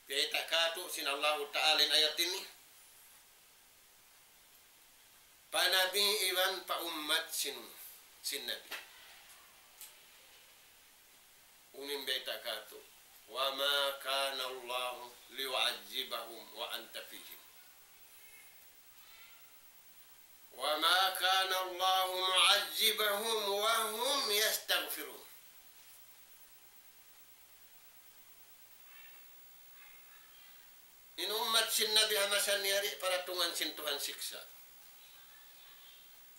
Bayta' katu' sin Allahu Ta'ala in ayat ini. Pa Nabi iban pa ummat sin, sin Nabi. Unu in bayta' katu'. وما كان الله ليعذبهم وأنت فيهم. وما كان الله معذبهم وهم يستغفرون. In ummat sin Nabi ha masa niya di' paratungan sin Tuhan siksa'.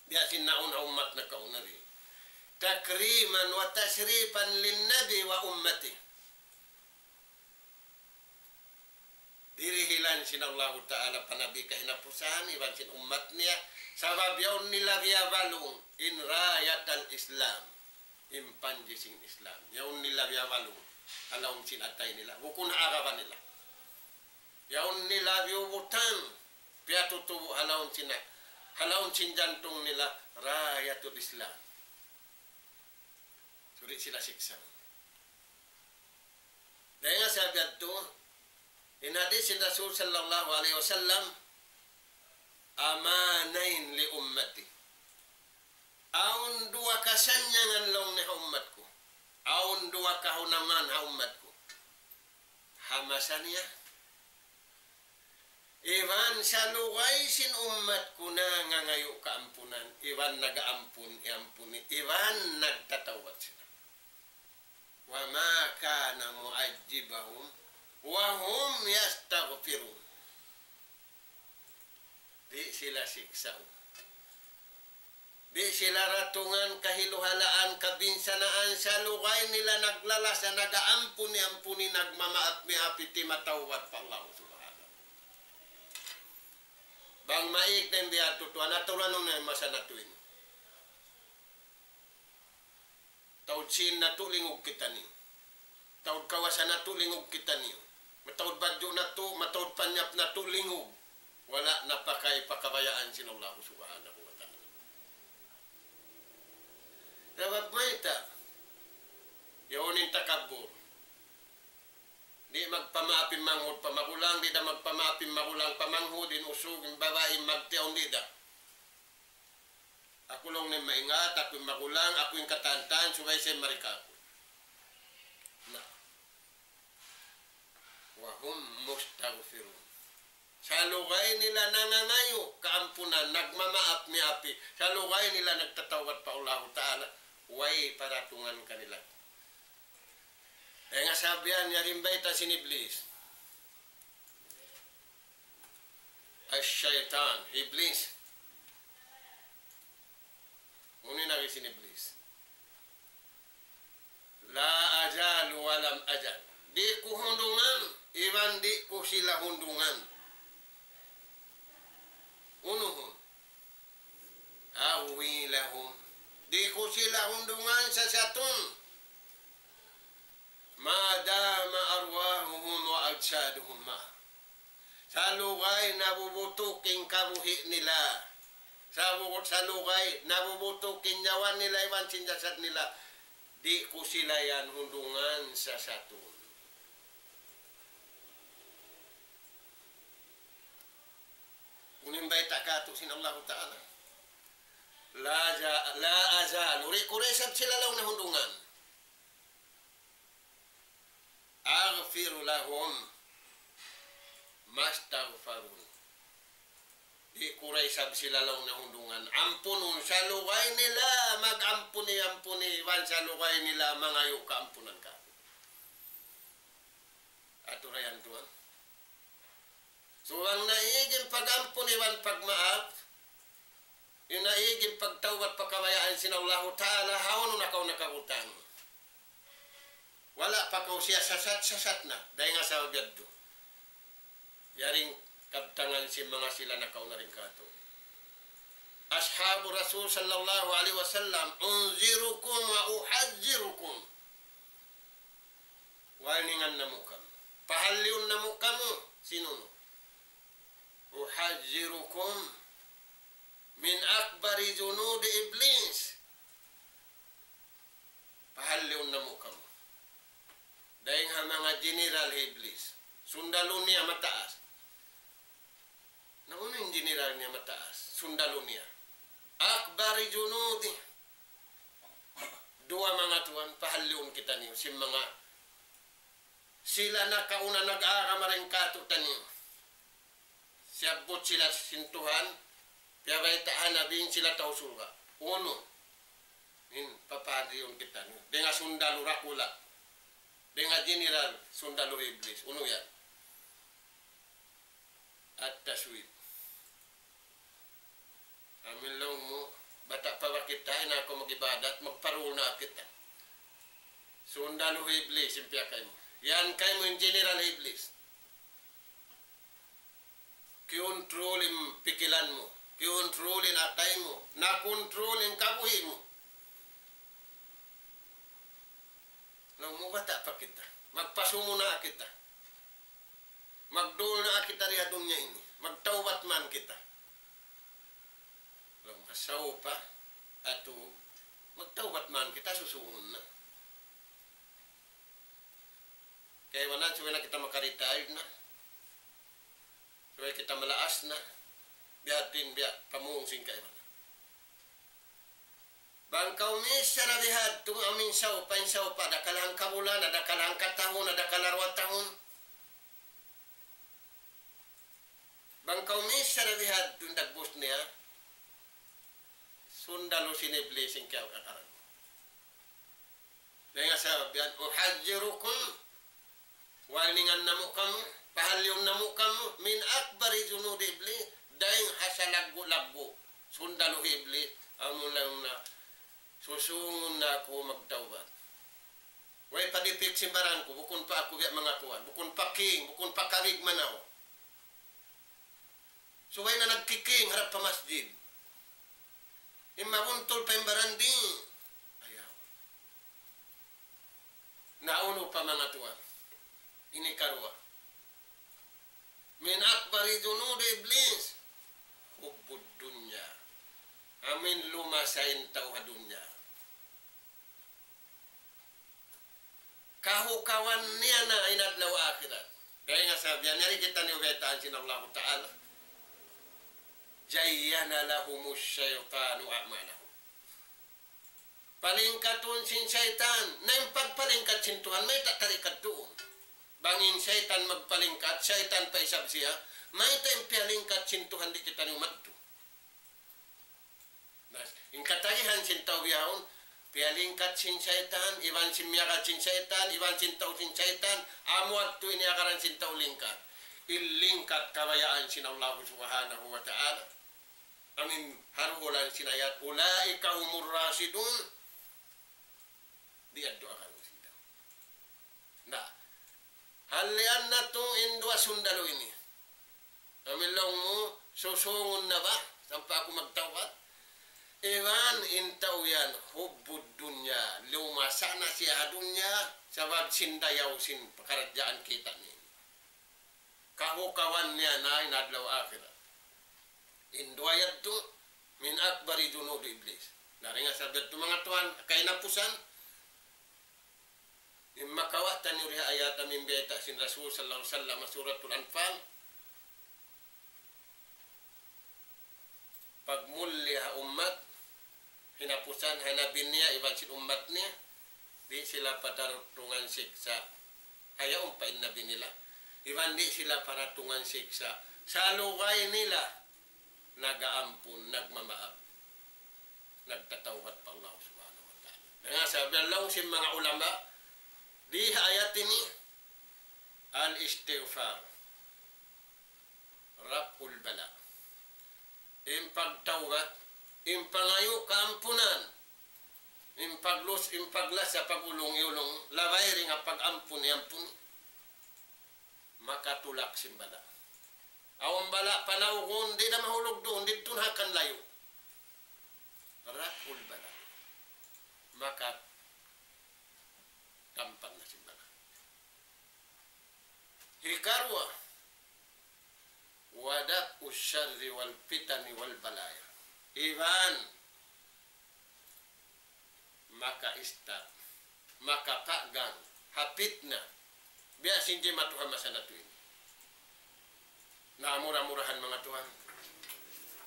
Biya' sin naun ha ummat nakauna di'. تكريما وتشريفا للنبي وأمته. Dirihilan sin Allahu Ta'ala pa Nabi kahinapusan, iban sin ummat niya, sabab yaun nila biyabalung in راية الإسلام, in panji sin Islam. Yaun nila biyabalung, ha lawm sin atay nila, bukun ha agama nila. Yaun nila biyubutang, piyatutubu' ha lawm sin, ha lawm sin jantung nila, راية الإسلام. Suri sila siksa. Dayn ha sabab yadtu, in hadis sin Rasul sallallahu alayhi wasallam, أمانين لأمتي. Awn duwa kasannyangan laung niya ha ummat ku. Awn duwa kahunangan ha ummat ku. Ha masa niya, iban salugay sin ummat ku nangangayu' kaampunan, iban nag-aampun, iyampuni, iban nagtatawbat sila. وما كان معذبهم وهم يستغفرون. Di' sila siksaun. Di' sila ratungan kahiluhalaan, kabinsanaan, salugay nila naglalasa, nag-aampuni-ampuni, nagmamaap-miapi, timatawbat pa Allah Subhanahu. Bang maig na in biya' tutuan, aturan na in masa natu' ini. Taud sīn natu' lingug kitaniyu. Taud kawasa natu' lingug kitaniyu. Mataud badju' natu', mataud panyap natu' lingug. Wala' na pakay pa kabayaan sin Allah Subhanahu wa Ta'ala. Sabab mayta'? Yaun in takabbur. Di' magpamaap in manghud pa magulang, di' da magpamaap in magulang pa manghud, in usug, in babai, in magtiyaun, di' da. Aku laung niya in maingat, aku in magulang, aku in katantan, subay siya in mari kāku'. Na. وهم مستغفرون. Salugay nila nangangayu' kaampunan, nagmamaap-miapi. Salugay nila nagtatawbat pa Allahu Ta'ala. Way paratungan kanila. Dayn ha sabab yan, yari in bayta' sin Iblis. Ash-shaytan, Iblis. Unu in agi sin Iblis? لا أزال ولم أزل. Di' ku hundungan, iban di' ku sila hundungan. Unuhun. أملي لهم. Di' ku sila hundungan sasatun. ما دام أرواحهم وأجسادهم معه. Salugay nabubutuk in kabuhi' nila. Sabu-, salugay nabubutuk in nyawa nila iban sin jasad nila. Di' ku sila yan hundungan sasatun. Unu in bayta' katu' sin Allahu Ta'ala. لا أزال, لا أزال. Di' ku da isab sila laung niya hundungan. أغفر لهم ما استغفروني. Di' ku da isab sila laung niya hundungan. Ampunun, salugay nila mag-ampuni-ampuni, iban salugay nila mangayu' kaampunan kāku'. Aturan yan tuwan. Subay naig in pag-ampun iban pagmaap, naig in pagtawbat pa kabayaan sin Allahu Ta'ala, hawnu na kaw nakabutang. Wala' pa kaw siya sasat-sasat na, dayn ha sabab yadtu. Yari in kabtangan sin manga sila nakauna dayn kātu'. أصحاب الرسول صلى الله عليه وسلم، أنذركم وأحذركم. Warningan namu' kamu. Pahalliun namu' kamu. Sin unu? أحذركم من أكبر جنود إبليس. Pahalliun namu' kamu. Dayn ha manga general hi Iblis. Sundalu niya mataas. Na unu in general niya mataas? Sundalu niya. أكبر جنوده. Duwa manga tuwan, pahalliun kitaniyu. Sin manga sila nakauna nag-agama dayn kātu'niyu. Siyabbut sila sin Tuhan, piyabayta' ha Nabi in sila tau surga'. Unu in papahalliun kitaniyu? Dayn ha sundalu dakula'. Dayn ha general sundalu Iblis. Unu yan? التسويف. Amu in laung mu, bata' pa ba kita, ayaw na aku mag-ibadat, magparul na kita. Sundalu Iblis in piyakay mu. Yan kaymu in general Iblis. Kikontrol in pikilan mu, kikontrol in atay mu, nakontrol in kabuhi' mu. Laung mu, bata' pa kita, magpasumu na kita. Magduul na kita di ha dunya ini. Magtawbat man kita. Laung, فسوف أتوب. Magtawbat man kita, susūngun na. Kaibanan, subay na kita maka-retire na. Subay kita malaas na. Biya' din, biya' pamung sin kaibanan. Bang kaw misan na bihadtu, amu in sawpa, in sawpa, dakala' hangka bulan, dakala' hangka tahun, dakala' duwa tahun. Bang kaw misan na bihadtu, in dagbus niya, sundalu sin Iblis in kiyakaran. Dayn ha sabab yan, أحذركم, warningan namu' kamu, pahalliun namu' kamu, من أكبر جنود إبليس, dayn ha salaggu'-laggu' sundalu Iblis, amu laung na, susūngun na aku magtawbat. Way pa dipik sin baran ku, bukun pa aku biya' manga kuwan, bukun pa king, bukun pa kabig manaw. Subay na nagkiking harap pa masjid. In mabuntul pa in baran di'. Ayaw. Na unu pa manga tuwan? Ini karuwa. من أكبر جنود إبليس حب الدنيا. Amu in lumasa in tau ha dunya. Kahukawan niya na in adlaw akhirat. Dayn ha sabab yan, yari kitaniyu baytaan sin Allahu Ta'ala. زين لهم الشيطان أعمالهم. Palingkatun sin saytan, na in pagpalingkat sin Tuhan, mayta' tarikat duun. Bang in saytan magpalingkat, saytan pa isab siya, Mayta' in piyalingkat sin Tuhan di' kitaniyu madtu? Na, in katagihan sin tau bihaun, piyalingkat sin saytan, iban sin miyagad sin saytan, iban sin tau sin saytan, amu yadtu in iyagaran sin tau lingkat. In lingkat kabayaan sin Allah Subhanahu wa Ta'ala. Amu in ha duhulan sin ayat, أولئك هم الراشدون. Di' yadtu agarun sin tau. Na, halian natu' in duwa sundalu ini. Amu in laung mu, susungun na ba? Sampay aku magtawbat. Iban in tau yan, حب الدنيا. Lumasa na siya ha dunya, sabab sin dayaw sin pakaradjaan kita' niya. Kahukawan niya na in adlaw akhirat. In duwa yadtu, من أكبر جنود إبليس. Na, dayn ha sabab yadtu manga tuwan, kahinapusan, in makawa' taniyu di ha ayat amu in biyayta' sin Rasul sallallahu alayhi wasallam, Suratul Anfal, pagmulliya ha ummat, hinapusan ha Nabi niya iban sin ummat niya, di' sila patarutungan siksa', ayaw pa in Nabi nila, iban di' sila paratungan siksa', salugay nila nag-aampun, nagmamaap, nagtatawbat pa Allah Subhanahu wa Ta'ala. Dayn ha sabab laung sin manga ulama, di ha ayat ini, الاستغفار رفع البلاء. In pagtawbat, in pangayu' kaampunan, in paglus-, in paglasa, pag-ulung-iyulung, labay dayn ha pag-ampun, iyampun, makatulak sin bala'. Awn bala' panawgun, di' na mahulug duun, didtu na ha kan layu'. رفع البلاء. Makatampan na sin bala'. Hikaruwa, ودفع الشر والفتن والبلايا. Iban maka-stop, makapagang ha pitna. Biya' sin jimatu ha masa natu' ini. Na, mura-murahan manga tuwan,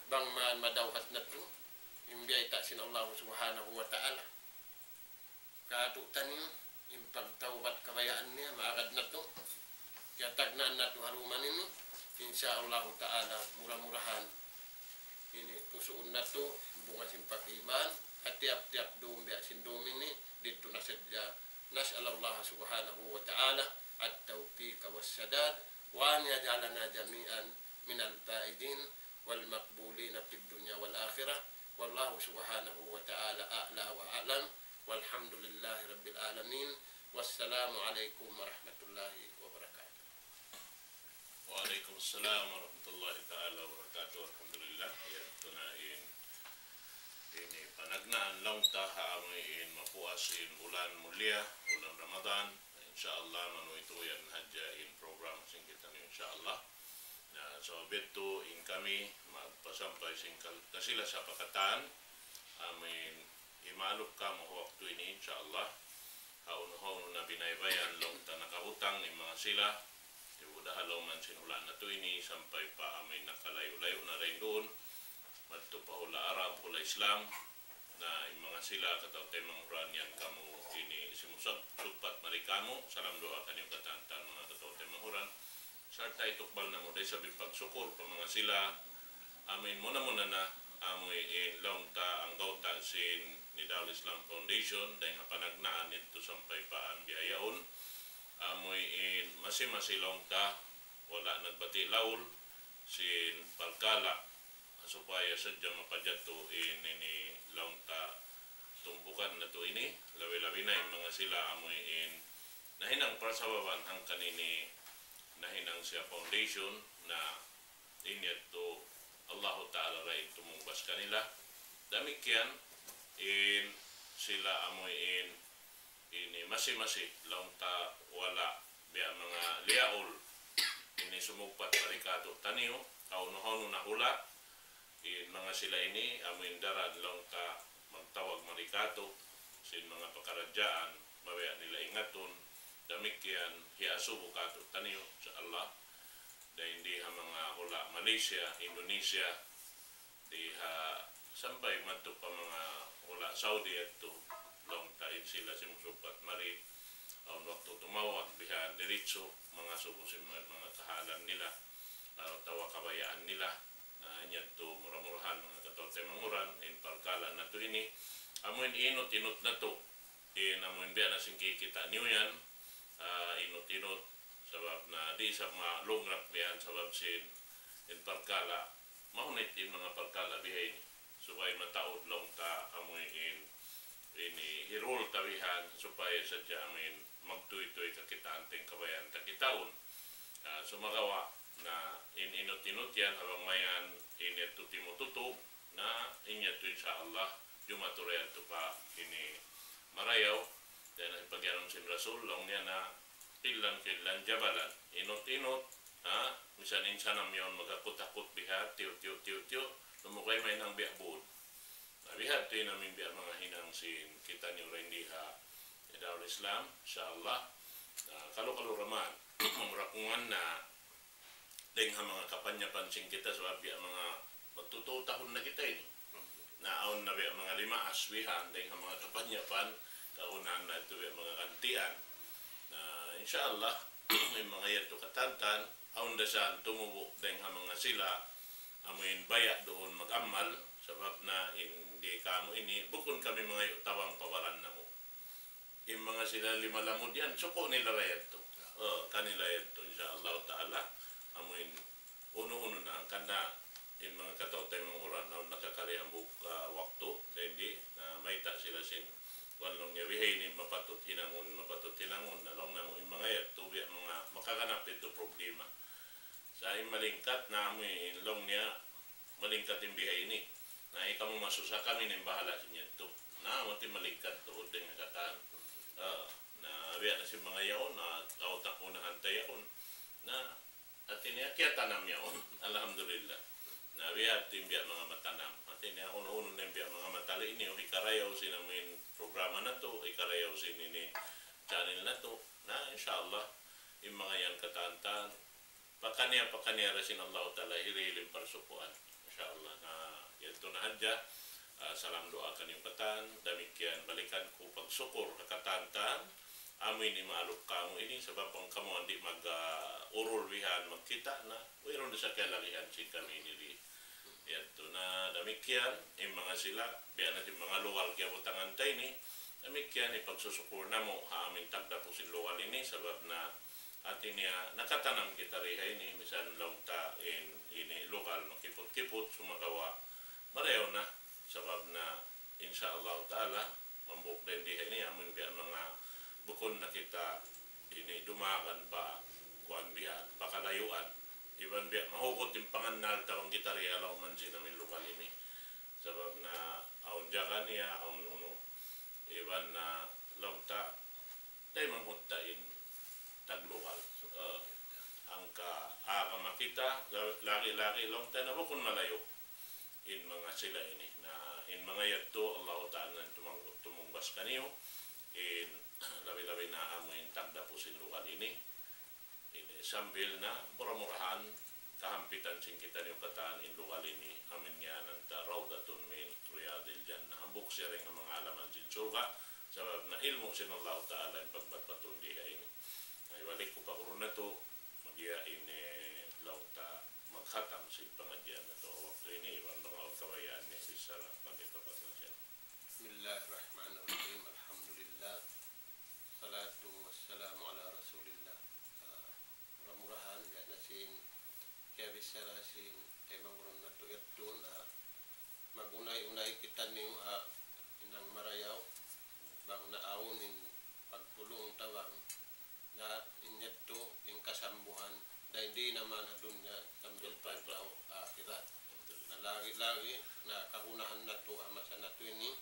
bang man madawhat natu' in biyayta' sin Allah Subhanahu wa Ta'ala kātu'niyu, in pagtawbat kabayaan niya, maagad natu'. Kiyatagnaan natu' ha dum ini, insya Allah Ta'ala, mura-murahan ini pusuun natu' bunga sin pag-iman, ha tiyap-tiyap dum biya' sin dum ini, didtu na sadja. نسأل الله سبحانه وتعالى التوفيق والسداد، وأن يجعلنا جميعا من الفائزين والمقبولين في الدنيا والآخرة. والله سبحانه وتعالى أعلى وأعلم، والحمد لله رب العالمين، والسلام عليكم ورحمة الله وبركاته. Wa alaykum assalam wa rahmatullahi ta'ala wa barakatuh. Alhamdulillah, yadtu na in, ini panagnaan laung ta ha amu in mapuas in bulan mulia, bulan Ramadan. Insya Allah, manuytuy yan hadja in program sin kitaniyu, insya Allah. Na, so, biya' ha yan in kami magpasampay sin kal-, kasilasa pa katan, amu in himalup kamu ha waktu ini, insya Allah. Hawnu-hawnu na binaybayan laung ta nakabutang in manga sila, ibu da ha lawm sin hula' natu' ini, sampay pa amu in nakalayu'-layu' na dayn duun, madtu pa hula' Arab, hula' Islam, na in manga sila kataw-taymanghuran yan kamu ini simusag-, sugpat mari kamu, salam duwaa kaniyu katan-katan manga kataw-taymanghuran. Sarta' itukbal namu' da isab in pagsukur pa manga sila. Amu in muna-muna na, amu in laung ta anggawta' sin Nidal Islam Foundation, dayn ha panagnaan yadtu sampay pa bihaun. Amu in masi-masi laung ta, wala' nagbati' laul, sin parkala', supaya sadja mapajatu in ini laung ta tumpukan natu' ini, labi-labi na in manga sila amu in nahinang parsababan hangkan ini nahinang siya foundation na in yadtu Allahu Ta'ala da in tumungbas kanila. Damikkiyan in sila amu in ini masi-masi laung ta wala' biya' manga liyaul ini sumugpat mari katu'taniyu, hawnu-hawnu na hula', in manga sila ini amu in daran laung ta magtawag mari katu', sin manga pakaradjaan, mabaya' nila ingatun, damikkiyan hiyasubu katu'taniyu, insya Allah. Dayn di ha manga hula' Malaysia, Indonesia, di ha sampay madtu pa manga hula' Saudi yadtu, laung ta in sila simusugpat mari, awn waktu tumawag bihan diritsu, mangasubu sin manga, manga kahalan nila. atawa kabayaan nila. Na, in yadtu mura-murahan, manga kataw-taymanghuran, in parkala' natu' ini, amu in inut-inut natu', in amu in biya' na sin kikita' niyu yan, ah, inut-inut, sabab na di' isab malugrak biya' yan, sabab sin, in parkala', mahunit in manga parkala' bihaini. Subay mataud laung ta amu in, ini hirul ta bihan, supaya sadja amu in magtuytuy kakitaan ta in kabayaan ta kitaun. Ah, sumagawa' na in inut-inut yan, ha bang mayan in yadtu timututug, na in yadtu insya Allah, jumatu ra yadtu pa ini marayaw, dayn ha pag'iyanun sin Rasul, laung niya na, "Qillan qillan jabalan." Inut-inut, ha? Misan in sanam yaun magakut-akut biha', tiyu', tiyu', tiyu', tiyu', lumugay mahinang biya' būd. Na, bihadtu in amu in biya' manga hinang sin kitaniyu dayn di ha Darul Islam, insya Allah. Na, kalu-kalu ra man, mamurakungan na, dayn ha manga kapanyapan sin kita, sabab biya' manga magtū-tū tahun na kita ini. Na awn na biya' manga lima aswihan, dayn ha manga kapanyapan, kagunahan na yadtu biya' manga gantian. Na, insya Allah, in manga yadtu katantan, awn da sa tumubu' dayn ha manga sila, amu in baya' duun mag-amal, sabab na in di kamu ini, bukun kami mangayu' tabang pa baran namu'. In manga sila lima lamud yan, suku' nila ra yadtu. Oh, kanila yadtu, insya Allah Ta'ala. Amu in unu-unu na, hangkan na in manga kataw-taymanghuran, awn nakakari hambuuk, ah, waktu, dayn di, na mayta' sila sin, kuwan laung niya, bihaini mapatut hinangun, mapatut hinangun, na laung namu' in manga yadtu, biya' manga makaganap yadtu problema. Sa' in malingkat, na amu in laung niya, malingkat in bihaini. Na ikaw mu masusa, kami na in bahala' sin yadtu. Na, mati malingkat tuud dayn ha katan. Ah, na, biya' na sin manga yaun, na, kautak unahan ta yaun. Na, hati niya, kiyatanam yaun. Alhamdulillah. Na, biya' hati biya' manga matanam. Hati niya, unu-unu na in biya' manga matali ini, o hikarayaw sin amu in programa natu', hikarayaw sin ini channel natu'. Na, insya Allah, in manga yan katantan, pakaniya-pakaniya da sin Allahu Ta'ala hirihil in parsukuan. Insya Allah. Na, yadtu na hadja. Ah, salam duwaa kaniyu katan. Damikkiyan balikan ku pagsukur ha katantan. Amu ini maalup kamu ini, sabab bang kamu di' mag, ah, urul bihan magkita' na, wayruun da sa kalagihan sin kami ini di. Yadtu na damikkiyan, in manga sila, biya' na sin manga lugal kiyabutangan ta ini, damikkiyan in pagsusukur namu' ha amu in tagdapu sin lugal ini, sabab na hati niya nakatanam kita di ha ini, misan laung ta in ini lugal makiput-kiput, sumagawa' marayaw na, sabab na, insya Allah Ta'ala, hambuuk dayn di ha ini, amu in biya' manga bukun na kita ini dumagan pa kuwan biya', pakalayuan. Iban biya' mahugut in pangannal ta bang kita di ha lawm sin amu in lugal ini. Sabab na awn jaga niya, awn unu. Iban na laung ta, taymanghud ta in taglugal. Ah, hangka agama kita, la-, lagi'-lagi' laung ta na bukun malayu' in manga sila ini. Na in manga yadtu, Allahu Ta'ala na tumang-, tumungbas kaniyu, in labi-labi na amu in tagdapu sin lugal ini. Ini sambil na mura-murahan kahampitan sin kitaniyu katan in lugal ini, amu in ngiyanan ta Rawdatun min Riyadil Jannah. Hambuuk siya dayn ha manga halaman sin surga', sabab na ilmu' sin Allahu Ta'ala in pagbatbatun di ha ini. Na, ibalik ku pa guru natu', magya ini laung ta maghatam sin pangadjian natu' waktu ini, iban bang awn kabayaan niya bichara pagkita pagkita. بسم الله الرحمن الرحيم. الحمد لله. والصلاة والسلام على رسول الله. Ah, mura-murahan, biya' na sin kiyabichara sin taymanghud natu' yadtu na mag-unay-unay kitaniyu ha hinang marayaw, bang naawn in pagtulung-tabang, na in yadtu in kasambuhan, dayn di naman ha dunya sambil pa adlaw akhirat. Na lagi'-lagi' na kagunahan natu' ha masa natu' ini,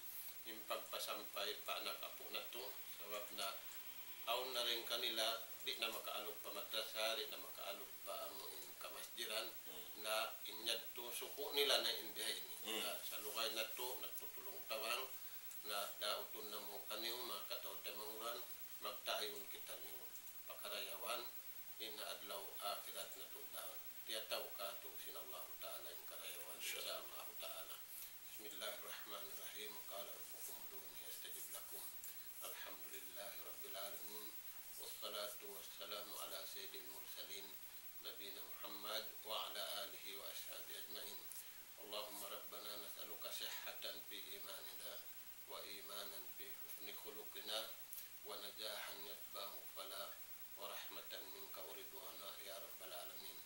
in pagpasampay pa anak apu' natu', sabab na awn na dayn kanila, di' na makaalup pa madrasa, di' na makaalup pa amu in kamasjidan, na in yadtu suku' nila na in bihaini. Na sa lugay natu', nagtutulung-tabang, na dautun namu' kaniyu, manga kataw-taymanghuran, magtayun kitaniyu pa karayawan, in adlaw akhirat natu' da. Tiyataw katu' sin Allahu Ta'ala in karayawan, insya Allahu Ta'ala. بسم الله الرحمن الرحيم. وقال ربكم ادعوني أستجب لكم. الحمد لله رب العالمين. والصلاة والسلام على سيد المرسلين نبينا محمد وعلى آله وأصحابه أجمعين. اللهم ربنا نسألك صحة في إيماننا، وإيمانا في حسن خلقنا، ونجاحا يتبعه فلاح، ورحمة منك ورضوانا يا رب العالمين.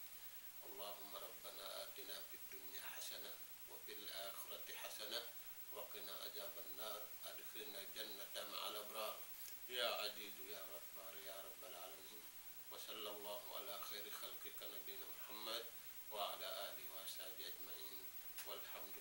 اللهم ربنا آتنا في الدنيا حسنة وفي الآخرة حسنة وقنا عذاب النار. أدخلنا الجنة مع الأبرار يا عزيز يا غفار يا رب العالمين. وصلى الله على خير خلقك نبينا محمد وعلى آله وأصحابه أجمعين. والحمد